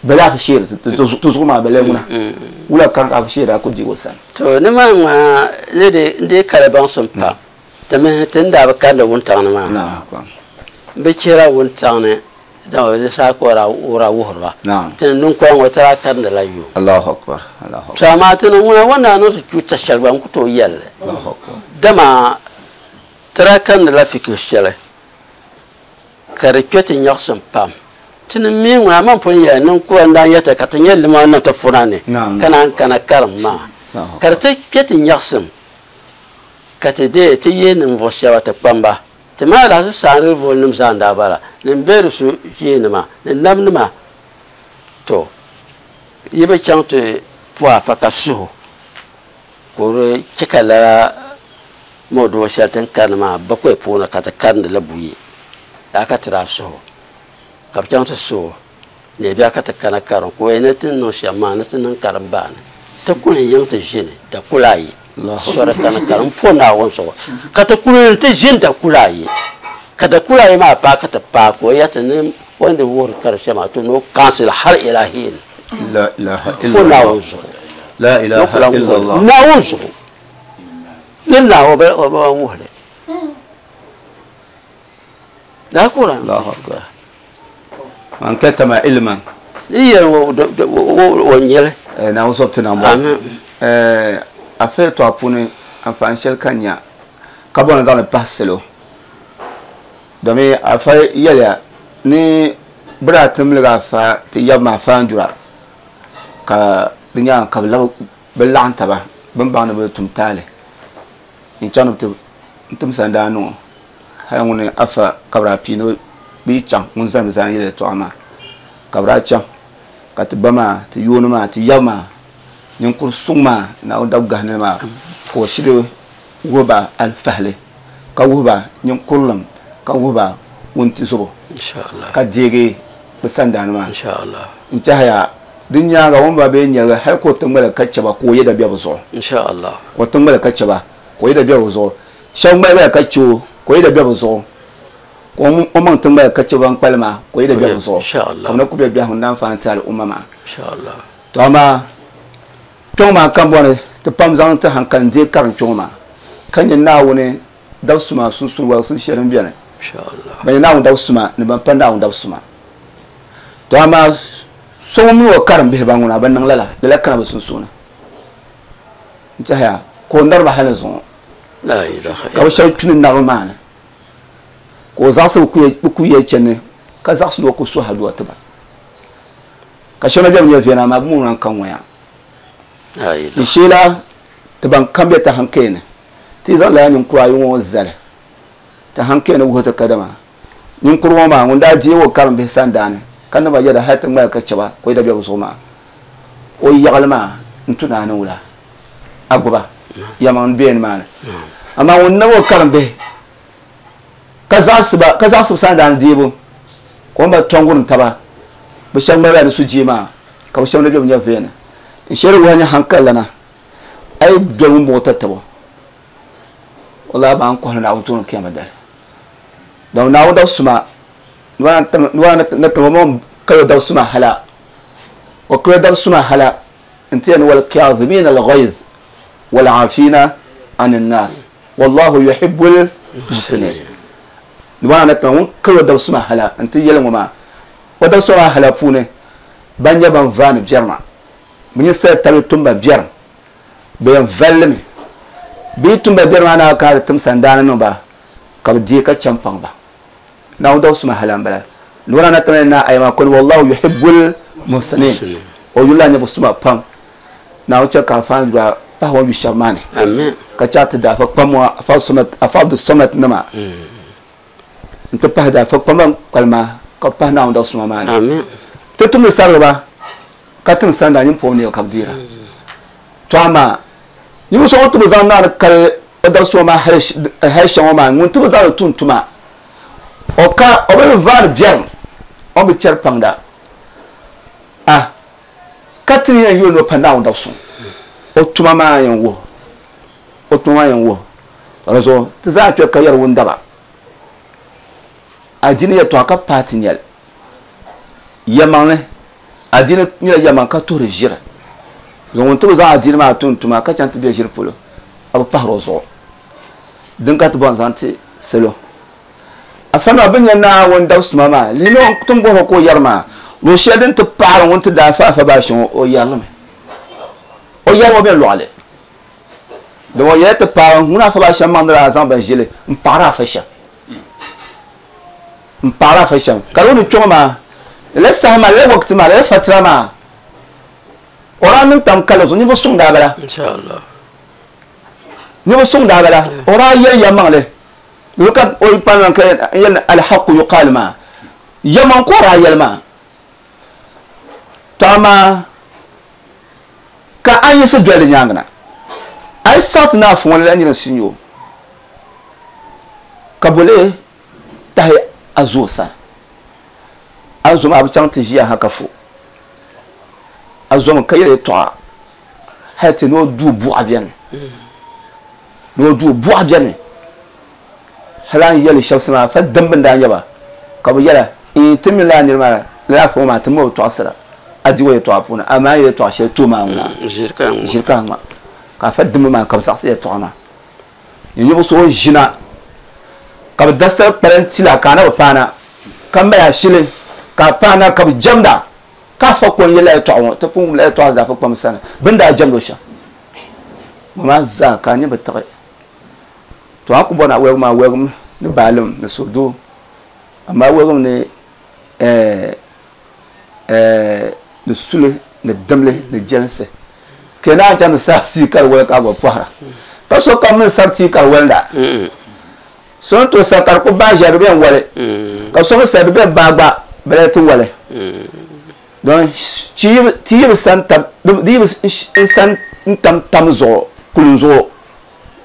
bala afa shee ti zuɣu maa bala ŋuna wula karim ka afa shee daa ku je o sani. To ni maa ŋmaa ni di n dii kali baŋsim pam dimi ti ni daa bi karindi wuntaŋ ni maa bi chihira wuntaŋ ni dama di saha ka o daa wuhiri ba ti ni ninkɔri ŋɔ ti daa karindila yuŋ. Allahu Akbar, Allahu Akbar. To amaa ti ni ŋuna o ni daa niŋ ti chuuta shɛli gba n ku tooi yɛli li. Allahu Akbar. Dama ti daa karindila fikihu shɛli ka di kpe ti nyaɣisim pam. Ti ni mi ŋuna amaa m pun yɛli ninkura n-daa yɛta ka ti nyɛ lima niŋ ti funa ni ka naan kana karim maa ka di ti kpe ti nyaɣisim ka ti deei ti yihi ninvuɣ shɛba ti kpamba. Ti maa lahi saanri volinima zaa n-daa bala ni m-be di su ʒiinima ni namnima. To, yi bi chaŋ ti puhi afa ka suh o ka o di chɛ ka lala mɔdoo shɛli ti ni karindi maa bakɔi puuni ka ti karindi li buyi. Lala ka ti daa suh o ka bɛ chaŋ ti suh o neebia ka ti kana karim ka o yɛli ni ti ni niŋ shɛm maa ni ti niŋ karimbaani ti kuli n-yiŋ ti ʒini dakula ayi sɔri kani karim m-po Naawuni zuɣu ka ti kuli ti ʒini dakula ayi ka dakula ayi maa paai ka ti paai ka o yɛli ti ni o ni wuhiri kari shɛm maa to ni o kansili hali ilahiin po Naawuni zuɣu ni o ku lan wuhiri Naawuni zuɣu ni Naawuni o bi lan wuhiri daa ka o lan Man katama ilman. Ni yɛli o nyɛli. Naawuni zɔbu ti nambo. Afa yɛltɔɣa puuni anfaani shɛli ka n nya ka bɔri ni zaŋli pahi salo, domi afa yɛliya ni bɛ daa ti miligi afa ti yab maa afa Andura, ka di nyaaŋa ka bɛ labi bɛ laɣim taba bɛ ni baŋ ni bɛ tum taali n-chaŋ ni bɛ ti tim sandaani ŋɔ. Hali ŋuni afa ka bɛ daa pii ni bɛ yi chaŋ ŋun zani bɛ zani yɛli yɛltɔɣa maa, ka bɛ daa chaŋ ka ti ba maa, ti yooni maa, ti yab maa, ninkuri suŋ maa, Naawuni dab gahindili maa, ka o shiri wuhi ba alifahili, ka wuhi ba ninkurilim, ka wuhi ba wuntizubo, ka deegi bɛ sandaani maa. N-tɛhiya di nyaaŋa o ni ba bee nyɛligi hali ka o ti ŋmaligi ka chɛ ba ka o yɛda be bɛ zuɣu. Ka o ti ŋmaligi ka chɛ ba ka o yɛda be bɛ zuɣu. Shɛba ŋmaligiya ka chɛ o ka o yɛda be bɛ zuɣu. Ka o maŋ ti ŋmaligi ka chɛ ban kpalim maa ka o yɛda be bɛ zuɣu. Ka bɛ na ku be biɛhigu ni daanfaani ti al'umma maa. Tɔ amaa kpiɔŋ maa kambɔni ti pam zaŋ ti haŋkali n-deei karim kpiɔŋ maa, ka nyɛ Naawuni dab suma sunsuuni waligisim shɛli din beni. Ban nyɛ Naawuni dab suma ni ban pa Naawuni dab suma. Tɔ amaa so ŋun mini o karim bihi ban ŋuna bi niŋ lala, lala kana bɛ sunsuuni. N-tɛhiya ka o nariba hali ni zuŋɔ, ka bɛ shɛba kpini naribu maa ni, ka o zaɣisi bɛ kuya chani, ka zaɣisi ni o ku suhi aduwa ti ba. Ka shɛba na bɛ bi nya viɛla, amaa bɛ mi ŋuna n-ka ŋɔya. Di sheela ti ban kam be ti hankali ni, ti yi zaŋ lala ninkura ayi ŋɔ zali ti hankali ni wuhi ti kadama ninkuri ŋɔ maa ŋun daa deegi o karimbihi sandaani ka niŋ ba yɛda hali ti ŋmaligi ka chɛ ba ka o yɛda be bɛ zuɣu maa, o yaɣili maa n-tu ni a ni wula a gbuba yɛlimaŋli be nimaani. Amaa ŋun niŋ o karimbihi ka zaɣisi ba, ka zaɣisi bɛ sandaani deebu, ka o ni ba tɔŋgurim taba, bɛ shɛba ŋmalila ni sujee maa, ka bɛ shɛba na be bɛ nyɛvuya ni. N shɛri wuhi a nyɛ haŋkalilana, a yi doli ŋumbɔŋɔ tatabo, walahi bɛ a ni kɔhiri Naawuni tooni kiyama dali. Dama Naawuni dab suma, ni na tim o maŋ kali o dab suma hala, o kali o dab suma hala nti yɛli ni wal-kaazimiina al-ghayz wal-aafiina ani-nnaas. Wallahu yuhibbul muhsinin. Di maana ni tiŋa ŋun kali o dabisima hala n-ti yɛli ŋɔ maa, o dabisima maa hala puuni ban nyɛ ban vaani biɛrima, bɛ nyɛ sali tabi tumba biɛrim, bɛ yɛn vali li mi. Bɛ yi tumba biɛrim maa naai ka ti tim sandaani niŋ ba ka bɛ deei ka chɛ m-paŋ ba. Naawuni dabisima hala m-bala. Di maana ni tiŋa ni naai aya maa kɔni Wallahu yuhibbul muhsinin. O yulila nyɛ suma pam. Naawuni chɛ ka afa yura pahi o ni yu shɛba maa ni, ka chɛ a ti da afa kpam ŋɔ, afa Abdulsamad nima nti pahi da afa kpam ban kpalim maa, ka bɛ pahi Naawuni dab suma maa ni. Ti tumdi sarigiba ka tim sanda nyin pɔbu neebu ka bɛ deera. Tɔ amaa ninvuɣ so ŋun ti bi zaŋ Naawuni kali o dab suma maa hali shɛŋa maa, ŋun ti bi zaŋ li tum tuma, o ka o bi vaari biɛrim, o ni bi chɛri paŋda. A Ka ti ni yɛn yuli ni o pa Naawuni dab suŋ, o tuma maa yɛn wuhi o tuma maa yɛn wuhi o. Di zuɣu ti zaa kpe ka yɛri wundaba, Adiini yɛtɔɣa ka paai ti nyɛli. Yɛlimaŋli, adiini nyɛla yɛlimaŋli ka tuhiri ʒiri. Zuŋ ŋun ti bi zaŋ adiini maa tum tuma ka chaŋ ti be ʒiri polo, a bi pahiri o zuɣu. Din ka ti bɔri n-zaŋ ti salo. Afa maa bɛ nya Naawuni dabisima maa, lihimi o ti ni bɔhir o ka o yɛri maa, luɣ shɛli din ti paɣiri ŋun ti daa fa Afa Baashe ŋɔ, o yɛri li mi. O yɛrimi o bɛ lɔɣili. Dama o yɛla ti paai ŋun Afa Baashe maŋ ni daa zaŋ ba ʒili m-paɣiri Afa shɛm. M-paɣiri Afa shɛm. Ka di o ni kpe ŋɔ maa, lala saha maa, lala wakati maa, lala fatira maa, o daa niŋ tam kali zuɣu ninvuɣ suŋ daa bala. Ninvuɣ suŋ daa bala. O daa yɛli yɛlimaŋli. Di ka o yi kpaŋ ka yɛli ni alhaqqu yuqaal maa, yɛmaŋ ka o daa yɛli maa. Tɔ amaa ka a yiɣisi doli di nyaaŋa na, a yi saɣi ti ni afa ŋɔ lala nira n-si o, ka bo lee tahi a zo o sani? A zo maa bi chaŋ ti ʒiya ha ka fo. A zomi ka yɛli yɛtɔɣa hali ti ni o duu buɣa beni. Ni o duu buɣa beni. Hali a ni yɛli shɛba sani maa, fa dimba n-daa nyɛ ba, ka bɛ yɛla, Iin, ti mi lala nira maa, lala afa ŋɔ maa, ti mi o bi tɔɣisira a di o yɛtɔɣa puuni, amaa a ni yɛli yɛtɔɣa shɛli ti o maa ŋuna, ʒiri ka a ŋma. Ka afa dimba maa ka bɛ zaɣisi yɛtɔɣa maa. Ni ninvuɣ so o ʒina ka bɛ da sal kpali n-ti la ka a na bi paana, ka mali ashili ka a paana ka bɛ jɛmd a. Ka afa ko n-yɛli a yɛtɔɣa ŋɔ, ti pun wumla yɛtɔɣa zaa kpam sani, bɛ ni daa jɛmdi o shɛm ŋɔ maa zaa, ka a nya bi tiɣi. To a ku bɔri ni a waligim maa, waligim ni baalim ni suhudoo, amaa waligim ni ni suli ni dimli ni jɛlinsi. Ka naan chaŋ ti sari tia ka di wali ka a gba pɔhira. Ka sokam mi sari tia ka di walinda. So ni tooi sari ka di ku baai ʒiɛri di bɛn wali, ka so mi sari di bɛn baai gba bɛ lee ti wali. Don ti yi bi sa n-tam, di yi bi sa n-tam tam zuɣu, kulim zuɣu,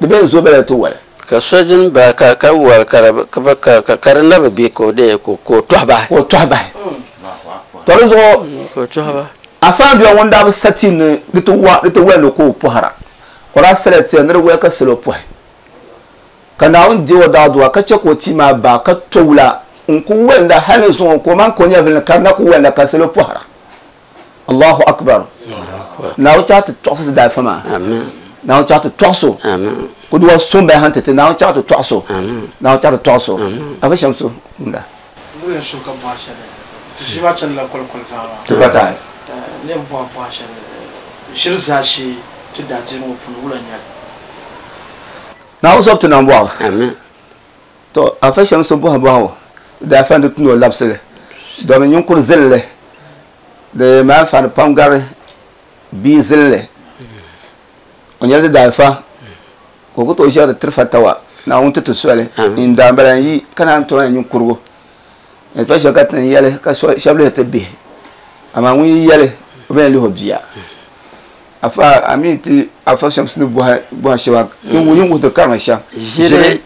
di bɛn zo bɛ lee ti wali. Ka so din baai ka ka wali ka di ka ka ka di na bi be ka o dee ka o tɔhi bahi. Ka o tɔhi bahi. Tɔ di zuɣu Ka o tɔhi bahi. Afa bia ŋun daa bi sa ti ni di ti wa di ti wali ni ka o pɔhira, o daa sala tia ni di wali ka salo pɔhi. Ka Naawuni deei o daadua ka chɛ ka o tia maa baai ka to wula n-ku walinda hal ni zuŋɔ ka o man ka o nyɛvili ni ka di na ku walinda ka salo pɔhira. Allahu Akbar. Naawuni chaɣ ti tɔɣisi ti daalifa maa. Naawuni chaɣ ti tɔɣis o. Kuduwa suŋ baya ha n-ti ti. Naawuni chaɣ ti tɔɣis o. Naawuni chaɣ ti tɔɣis o. Afa Shamsu ŋunda. N yɛn suhi ka bɔhi shɛli, ti ʒii maa chanila kolikoli vaa maa. Ti patahi. N yɛn bɔhi bɔhi shɛli, ʒiri zaashee ti daadiini ŋɔ puuni wula n-nyɛ li? Naawuni zɔbu ti niŋ bɔhigu. Amin. To afa Shamsu bɔhi bɔhigu daa fa di ti ni o labisi li domin ninkuri zilinli di mali anfaani pam gari bia zilinli. O nyɛla di daalifa ka o ku tooi ʒiɛri tiri fatawa Naawuni ti ti soli n daa bala n yi ka naan tooi ninkurigu yɛltɔɣa shɛli ka ti ni yɛli ka shɛba lihi ti bihi amaa ŋun yi yɛli o bɛn lihi o bia. Afa a mi ti afa Shamsi ni bɔhi bɔhi shɛba yin wuhi ti karima shɛm ʒiri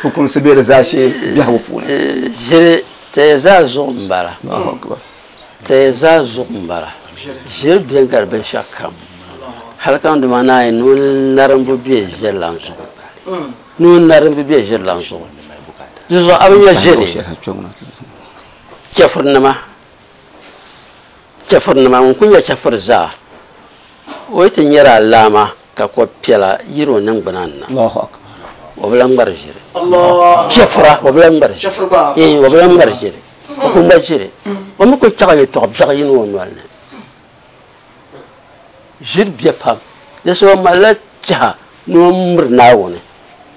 fukumsi bee di zaashee biɛhigu puuni. Ʒiri taya zaa zuɣu m-bala. Taya zaa zuɣu m-bala. Ʒiri beni gari binshɛɣu kam. Hali ka dama naai ni o narimbu be ʒiri lan zuɣu. Ni o narimbu be ʒiri lan zuɣu. Di zuɣu a bi nya ʒiri chɛfurinima. Chɛfurinima ŋun kuli nyɛ chɛfuri zaa o yi ti nyɛri alaama ka ko piɛla yiri o niŋgbuna ni na o bi lahi ŋmari ʒiri. Chɛfura o bi lahi ŋmari ʒiri. O bi lahi ŋmari ʒiri. O ku ŋmari ʒiri. O mi ku chaɣi yɛltɔɣa biɛɣu yini o noli ni. Ʒiri bɛ pam. Di zuɣu o malila tɛha ni o miri Naawuni.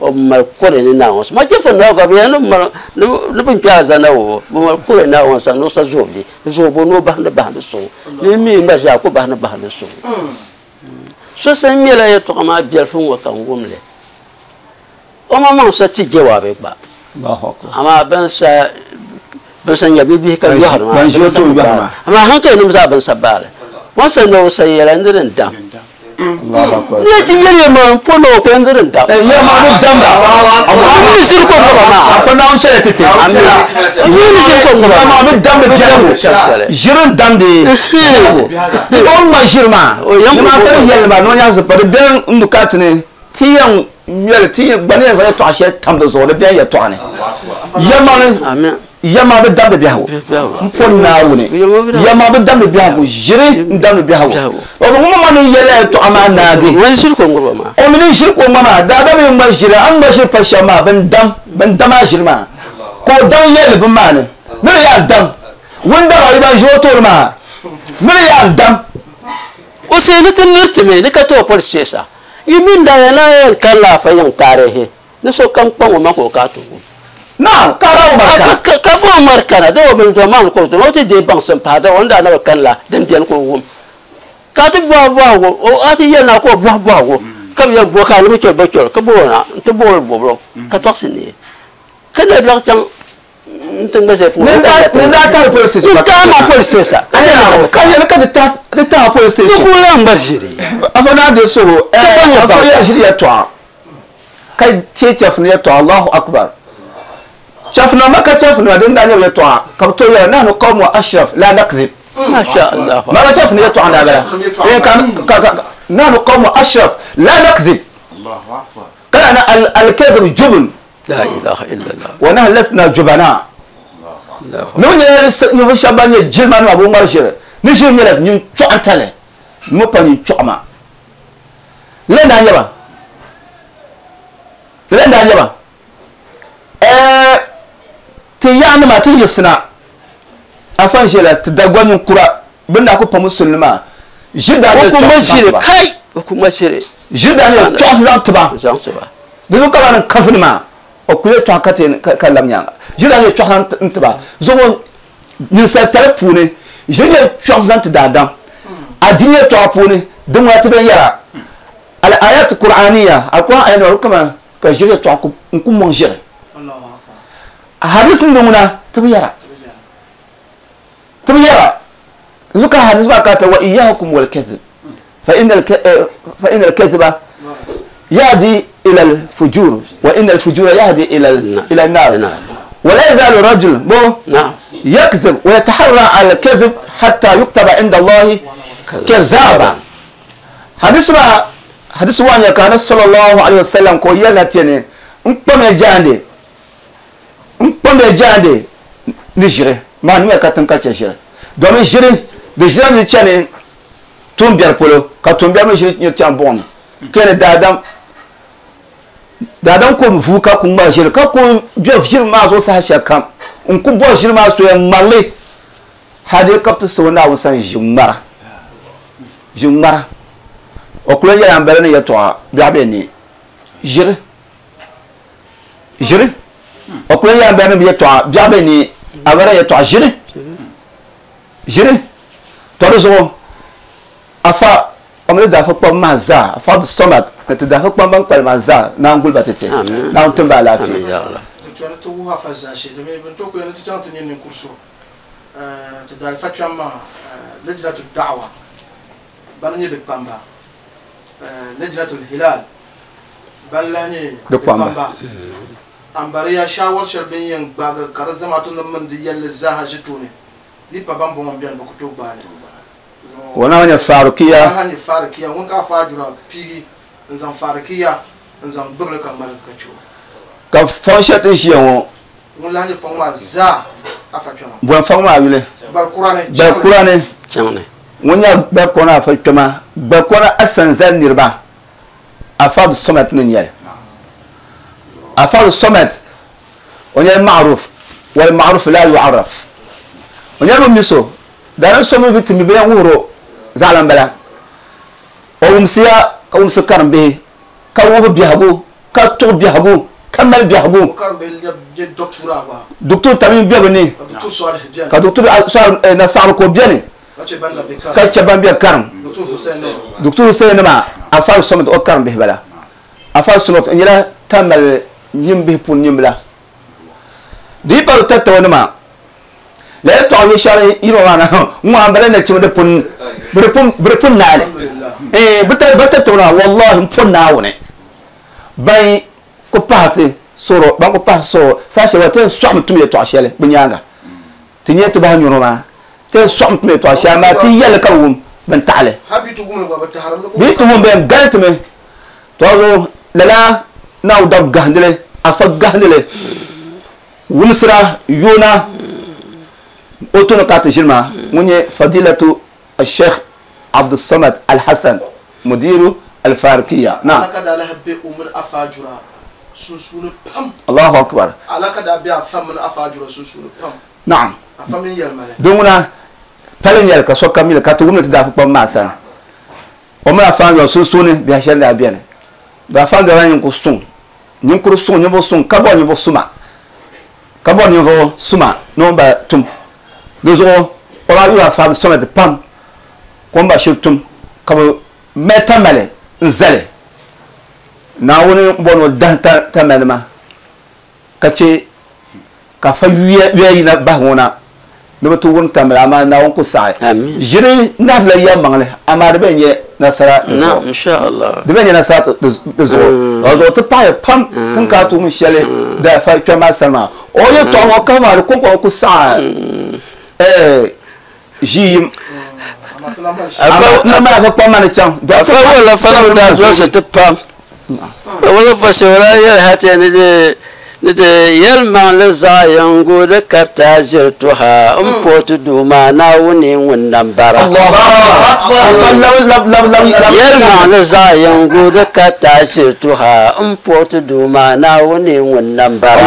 O mali kore ni Naawuni sani. Ma chɛfuri Naawuni ka bɛ yɛli ni bɛ ni kpe alizanda ŋɔ bɛ mali kore Naawuni sani ni o sa zooi bɛ zooi ni o bahindi bahindi suŋ. Ni mi gba zaa ku bahindi bahindi suŋ. So sa ŋmɛla yɛltɔɣa maa biɛlifu ŋɔ ka n wum li. O maŋmaŋ sa ti jawaabi gba. Amaa bɛn sa bɛn sa nya bibihi ka yɔhiri maa. Amaa hankalinim zaa bɛn sa baali. O ni sa ni o sa yɛla ni din dam. Ni ti yɛli ya maa n-po ni o ko ni din dam. N ni ʒiri ko ŋɔ ba maa. N ni ʒiri ko ŋɔ ba maa. Ʒiri n-damdi o ni ŋma ʒiri maa. Ni maa ka di yɛli maa ni o nyaɣisi pa di bɛn n-lu ka ti ni ti yɛn ŋmɛli ti gba ni yɛn zaŋ yɛltɔɣa shɛli tam di zuɣu di bɛn yɛltɔɣa ni. Yɛlimaŋli yɛlimaŋli bi damdi biɛhigu m-po Naawuni yɛlimaŋli bi damdi biɛhigu ʒiri n-damdi biɛhigu o bi ŋun ma ni yɛli yɛltɔɣa maa naagi o mi ni ʒiri ka o ŋma maa daadam yi ŋma ʒiri a ni ŋma ʒiri pa shɛm maa bɛn dam bɛn dam a ʒiri maa ka o daŋ yɛli bini maa ni ni di yaa dam ŋun dam a yi ban ʒi o tooni maa ni di yaa dam. O suhi ni ti liriti mi ni ka ti o police station. Yi mini daa na yɛn karila afa yiŋ taarihi ni sokam kpaŋ o maŋ ka o ka ti wum. Na, ka fa Umar kana. Ka fa Umar kana, da o bini dɔn maa ni ka o o ti deei baŋsim pahi da o ni daa na bi kani la din beni ka o wum. Ka a ti bɔhi bɔhigu, o a ti yɛli na ka o bɔhi bɔhigu, ka bɛ yɛn bo ka a ni bi chɛli ba chɛli ka bo o na nti bo o bɔbili ka tɔɣisi neei. Ka nabiɛɣu chaŋ n ti ŋma shɛli puuni. Ni daa tahi police station. Ni tahi ma police station. Ka yɛli ka di tahi police station. Ni ku lan gba ʒiri. Afa naa de so afa yɛn ʒiri yɛltɔɣa ka chɛ chɛfuni yɛltɔɣa Allahu Akbar. Chɛfunima Maka chɛfunima din daa nyɛ bɛ yɛltɔɣa ka bɛ tooi yɛli nahnu qawmu ashraf la nakzib. Masha Allah. Maka chɛfuni yɛltɔɣa n daa bala. Ka nahnu qawmu ashraf la nakzib. Kana na al-kadhib jubn. La ilaha illallah. Wa nahnu lasna jubana. Ni bɛ nyɛla ninvuɣ shɛba ban nyɛ jilimanima bɛ ŋmari ʒiri ni ʒiri nyɛla nyin chɔɣintali ni mi pa nyin chɔɣima. Lala n-daa nyɛ ba. Lala n-daa nyɛ ba. Ɛɛ ti yaanima ti yiɣisina afa n-ʒiya la ti Dagbaŋ ninkura. Bɛ daa ku pa musulini maa ʒiri daa nyɛla kuma chɔɣisi zaŋ shiri ti ba. Kai o kuma shiri. Ʒiri daa nyɛla chɔɣisi zaŋ ti ba. Zaŋ ti ba. Di zuɣu ka ba niŋ kafuni maa o kuli yɛltɔɣa ka ti ka lab nyaanga. Ʒiri daa nyɛla chɔɣisi zaŋ ti ba. Zuɣu ninsal tali puuni ʒiri nyɛla chɔɣisi zaŋ ti daadam. Adiini yɛltɔɣa puuni din ŋuna ti bɛn yɛra al ayat qur'aniya al-Qur'an aya nima kama ka ʒiri yɛltɔɣa n ku mɔŋ ʒiri. Hadis ni ŋuna ti bi yɛra. Ti bi yɛra. Zuɣu ka hadis maa ka ta wa iyyakum wal kadhib fa inna al-kadhiba yahdi ila al-fujur wa inna al-fujura yahdi ila an-nar wa la yazalu rajul yakdhib wa yataharra ala al-kadhib hatta yuktaba inda Allahi kadhaba. Hadis ma hadis wa nya kana sallallahu alayhi wasallam ko yalla tene n kpame jande ni jire ma ni ka tan ka che jire domin jire de jire ni chane tumbiar polo ka tumbiar mi jire ni chan bon kene dadam dadam ko vuka ku ma jire ka ko bi jire ma zo sa sha kam n ku bo jire ma so ya malle hade kaptu so na wusan jimara jimara o kula ya ambere ni ya to bi abe ni jire jire o kula ya ambere ni ya to bi abe ni abara ya to jire jire to zo afa omle da fa kpam ma za afa bi somat na te da fa kpam ban kpal ma za na ngul ba tete na on tumba la fi ya Allah to to wa fa za shi de ben to ko yana ti ni kurso to dal fa chama lajnatu da'wa ban ni de pamba lajnatu hilal ban la ni de pamba ambariya shawar sharbin yan gbaga karzama tun man di yalle zaha jitune li pa ban bon bian ko to gbani wana wanya farukiya wani farukiya won ka fajura pigi nzan farukiya nzan bugle kan mal ka chu ka fonshet ji won won la ni fon wa za afa chama bon fon ma yule bal qur'ane bal qur'ane chama won ya bal qur'ane afa chama bal qur'ane asan zan nirba afa somat ni nyel afa somat won ya ma'ruf wal ma'ruf la yu'arraf won ya miso dara somo bitim bi wuro zalan bala o umsiya ka umsu karambe ka wo bihago ka to bihago kamal bihago karambe je doctora ba docteur tamim biabni docteur salih bien ka docteur salih na sar ko biani ka che ban la be ka che ban bi karam docteur hussein docteur hussein ma afal somo o karam be bala afal sunot nyela tamal nyimbe pun nyimbla di par tattawana ma la to ni shari iro wana mu ambale na chimde pun burpun naale eh bata bata to na wallahi pun naawne bay ko paati soro ba ko pa so sa she wate so tum ye to ashele bunyanga tinye to ba nyoro ma te so tum ye to ashele ma ti yel ka wum ben taale habitu gum ba ta haram bi to wum ben galtme to zo lala naw dab gahdele afa gahdele wumsra yona أوتونا قات جلما مني فضيلة الشيخ عبد الصمد الحسن مدير الفاركية نعم على كذا له بأمر أفاجرا سنسون بام الله أكبر على كذا بيا فمن أفاجرا سنسون بام نعم أفهمين يالمالي دومنا بلن يالك سو كامل كاتوغم تدافع بام ماسان وما أفهم سنسون بيهشان لابيان بأفهم دوان ينقصون ينقصون ينقصون كبر ينقصون كبر ينقصون نوبا توم dozo ola yura fam somet pam komba shirtum kabo metamale nzale na woni bono dan tamalma kace ka fa yuye na bahona no to won tamala ma na won ko sai jire na la ya mangle amar be nye nasara na insha Allah de be nye nasara dozo ozo to pa pam kun ka to mun shele da fa kama sama o ye to mo ka ma ko ko ko sai jim afa ma ko ma chan afa wala fa da do se te pam wala fa se wala ya hate ne de ne de yelma le za yango de karta jirtuha um potu duma na wuni wannan bara yelma le za yango de karta jirtuha um potu duma na wuni wannan bara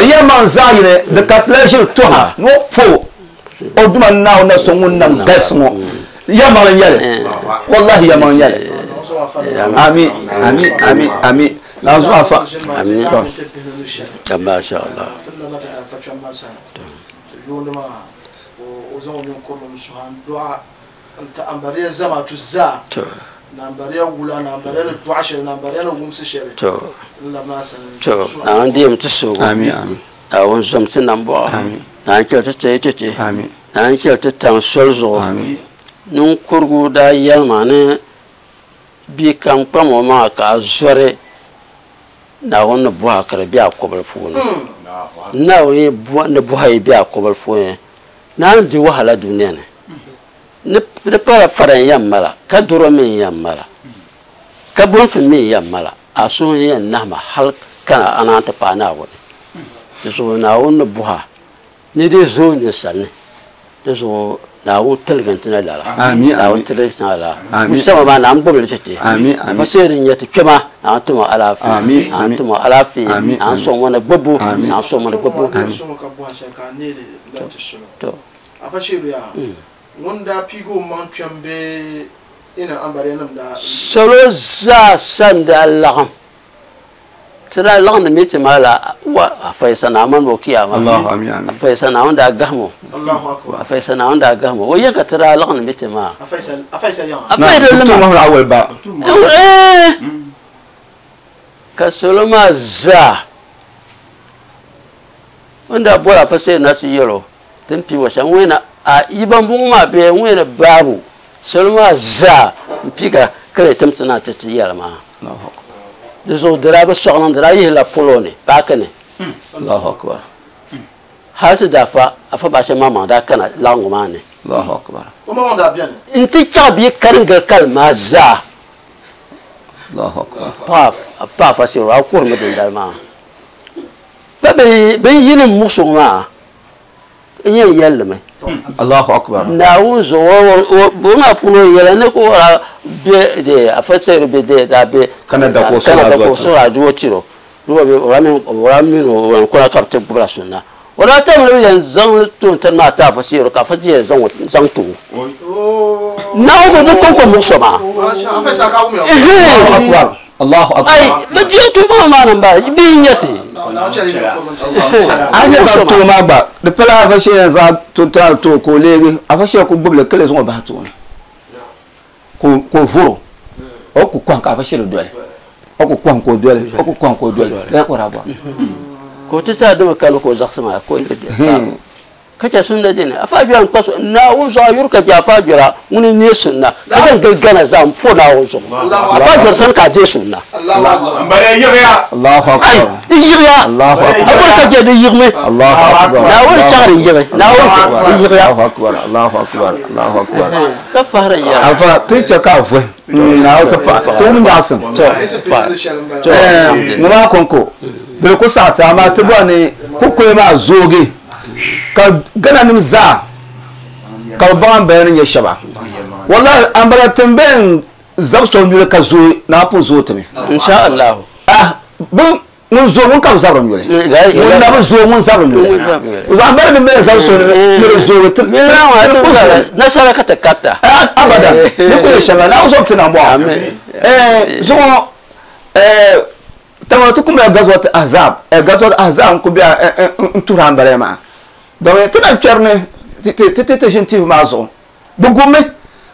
yelma za yire de karta jirtuha no po O duma naaw na so ŋun nam galisi ŋɔ yɛlimaŋli n nyɛli wallahi yɛlimaŋli n nyɛli ami ami ami ami na zuɣu afa Amin. Masha Allah. To. To. To. Na ndi ti sugu. Amin amin. Na won zom ti nam bo. Amin. Na n chɛli ti tɛyi ti ti. Amin. Na n chɛli ti taŋ soli zuɣu. Amin. Ninkurigu daa yɛlima ni bia kam kpam o maŋa ka a zɔri Naawuni ni bɔha ka di be a kɔbili puuni. Naawuni ni bɔha yi be a kɔbili puuni naan di wahala dunia ni. Di pala fara n yɛn mala ka doro mi n yɛn mala ka bonfi mi n yɛn mala a suhu n yɛn nahima hali kana a naan ti paai Naawuni. Di zuɣu Naawuni ni bɔha ni di zooi ninsal ni di zuɣu Naawuni tiligi ti na lala. Amin, Naawuni amin. tiligi ti na lala. Amin. Musamman maa Naawuni gbubili ti ti. Amin, amin. Afa seeri n nyɛ ti kpɛma Naawuni tuma alaafee. Amin, Naawuni amin. tuma alaafee. Amin, Naawuni amin. sɔŋ ŋɔ ni gbubbu. Amin. Naawuni sɔŋ ŋɔ ni gbubbu. To. Afa sheeru yaa ŋun daa piigi o maŋ kpɛm bee ina ambariya nim daa Salo zaa san daa laɣim ti daa laɣim ni miti maa la wa afa yisa Naawuni o kiyama. Allahu amin amin. Afa yisa Naawuni daa gahimo. Allahu akbar. Afa yisa Naawuni daa gahimo o yɛ ka ti daa laɣim ni miti maa. Afa yisa afa yisa yaŋa. Afa yisa lima. Mahmud awal ba Ka salo maa zaa n daa bɔri afa seeri na ti yɛl o ti ni pii wa shɛm ŋun na a yi ban bɔŋɔ maa bee ŋun na baabu salo maa zaa n pii ka kali tim ti na ti ti yɛli maa. Di zuɣu di daa bi sɔɣi niŋ di daa yihila polo ni paaki ni. Allahu akbar. Hali ti daa fa afa baasha maŋmaŋ daa kana laɣingu maa ni. Allahu akbar. O maŋ daa bɛni. N ti chaɣ bia karingili kali maa zaa. Allahu akbar. Pa afa seeri a kuhirimi dindali maa. Pa bin yini muɣusigu maa n yɛn yɛlli mi. Allahu akbar. Naawuni zuɣu o maa puuni o yɛla ni ko o be de afa seeri be de daa be Canada ko Canada sora ko sora duo tiro nuwa be o min o ko ka te gbura sunna o daa tam ni yɛn zaŋ toon tani maa ta afa seeri ka afa yɛn zaŋ to Naawuni zuɣu di konko muɣuso maa. Masha afa yisa ka wum ya. Allahu akbar. Allahu akbar. Ai bi jɛ tu maa maa ni bala bi nyɛ ti. Na chɛli ni kurum ti. A nyɛ ka too maa gba di pala afa shee zaŋ to tana to ka o leegi afa shee ku gbubili kili zaŋ o bahi tooni ka o vuro o ku kɔhim ka afa shee doli o ku kɔhim ka o doli o ku kɔhim ka o doli lala ka o daa bɔri. Ka o ti taa dimi kani ka o zaɣisi maa ka o yi ka chɛ sunna dini afa jɔra n kpa so Naawuni zuɣu a yuri ka chɛ afa jɔra ŋuni n neei sunna ka zaŋ gili Gana zaa n po Naawuni zuɣu afa jɔra sani ka a deei sunna. Allahu akbar. Allahu Ai akbar. di yiɣiya Allahu akbar. a bɔri ka chɛ di yiɣimi Allahu akbar. Naawuni chaɣiri yiɣi Naawuni zuɣu di yiɣiya. Allahu akbar. Allahu akbar. Allahu akbar. Ka fahari n yɛra. Afa ti chɛ ka a vuhi Naawuni ti fa ti wum nyaɣisim. To Ti pili shɛli n bala. To ŋɔ maa kɔŋko di ku saɣati amaa ti bɔri ni kukoya maa zoogi ka Gana nim zaa ka bi baŋ ambala ni nyɛ shɛba wallahi ambala tin bɛn zabi so nyuli ka zooi naa pun zooi timi. Insha Allah. Ah bi ŋun zooi ŋun ka bi zabiri nyuli ŋun na bi zooi ŋun zabiri nyuli ambala nim bɛn zabi so ni di zoogi ti Nasara ka ti karita. Abada ni ku yɛ shɛŋa naa zɔbi ti na mɔɣu zuɣu tama ti kumla gazwat ahzab gazwat ahzab n ku bɛ n tuhiri ambala maa donc ti na kpɛri ni ti ti ti ʒini TV maa zuɣu bi gubimi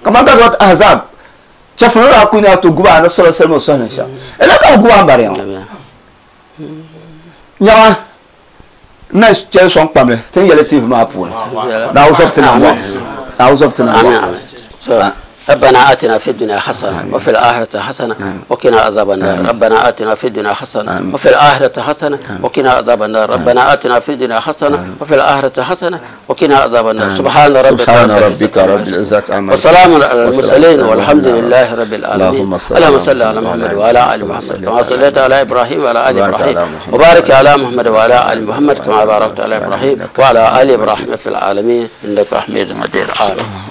kamani gazwat ahzab chɛfuri daa ku nya ti guba ni sɔrɔ sali o sɔhini shɛm ila ka bi guba ambala ŋɔ nyaŋa n na chɛli sɔŋ kpamli ti ni yɛli TV maa puuni Naawuni zɔbi ti na mɔɣu Naawuni zɔbi ti na mɔɣu. ربنا آتنا في الدنيا حسنة وفي الآخرة حسنة وقنا عذاب النار. ربنا آتنا في الدنيا حسنة وفي الآخرة حسنة وقنا عذاب النار. ربنا آتنا في الدنيا حسنة وفي الآخرة حسنة وقنا عذاب النار. سبحان ربك رب العزة عما وسلام على المرسلين والحمد لله رب العالمين. اللهم صل على محمد وعلى آل محمد كما صليت على إبراهيم وعلى آل إبراهيم وبارك على محمد وعلى آل محمد كما باركت على إبراهيم وعلى آل إبراهيم في العالمين إنك حميد مجيد. آمين.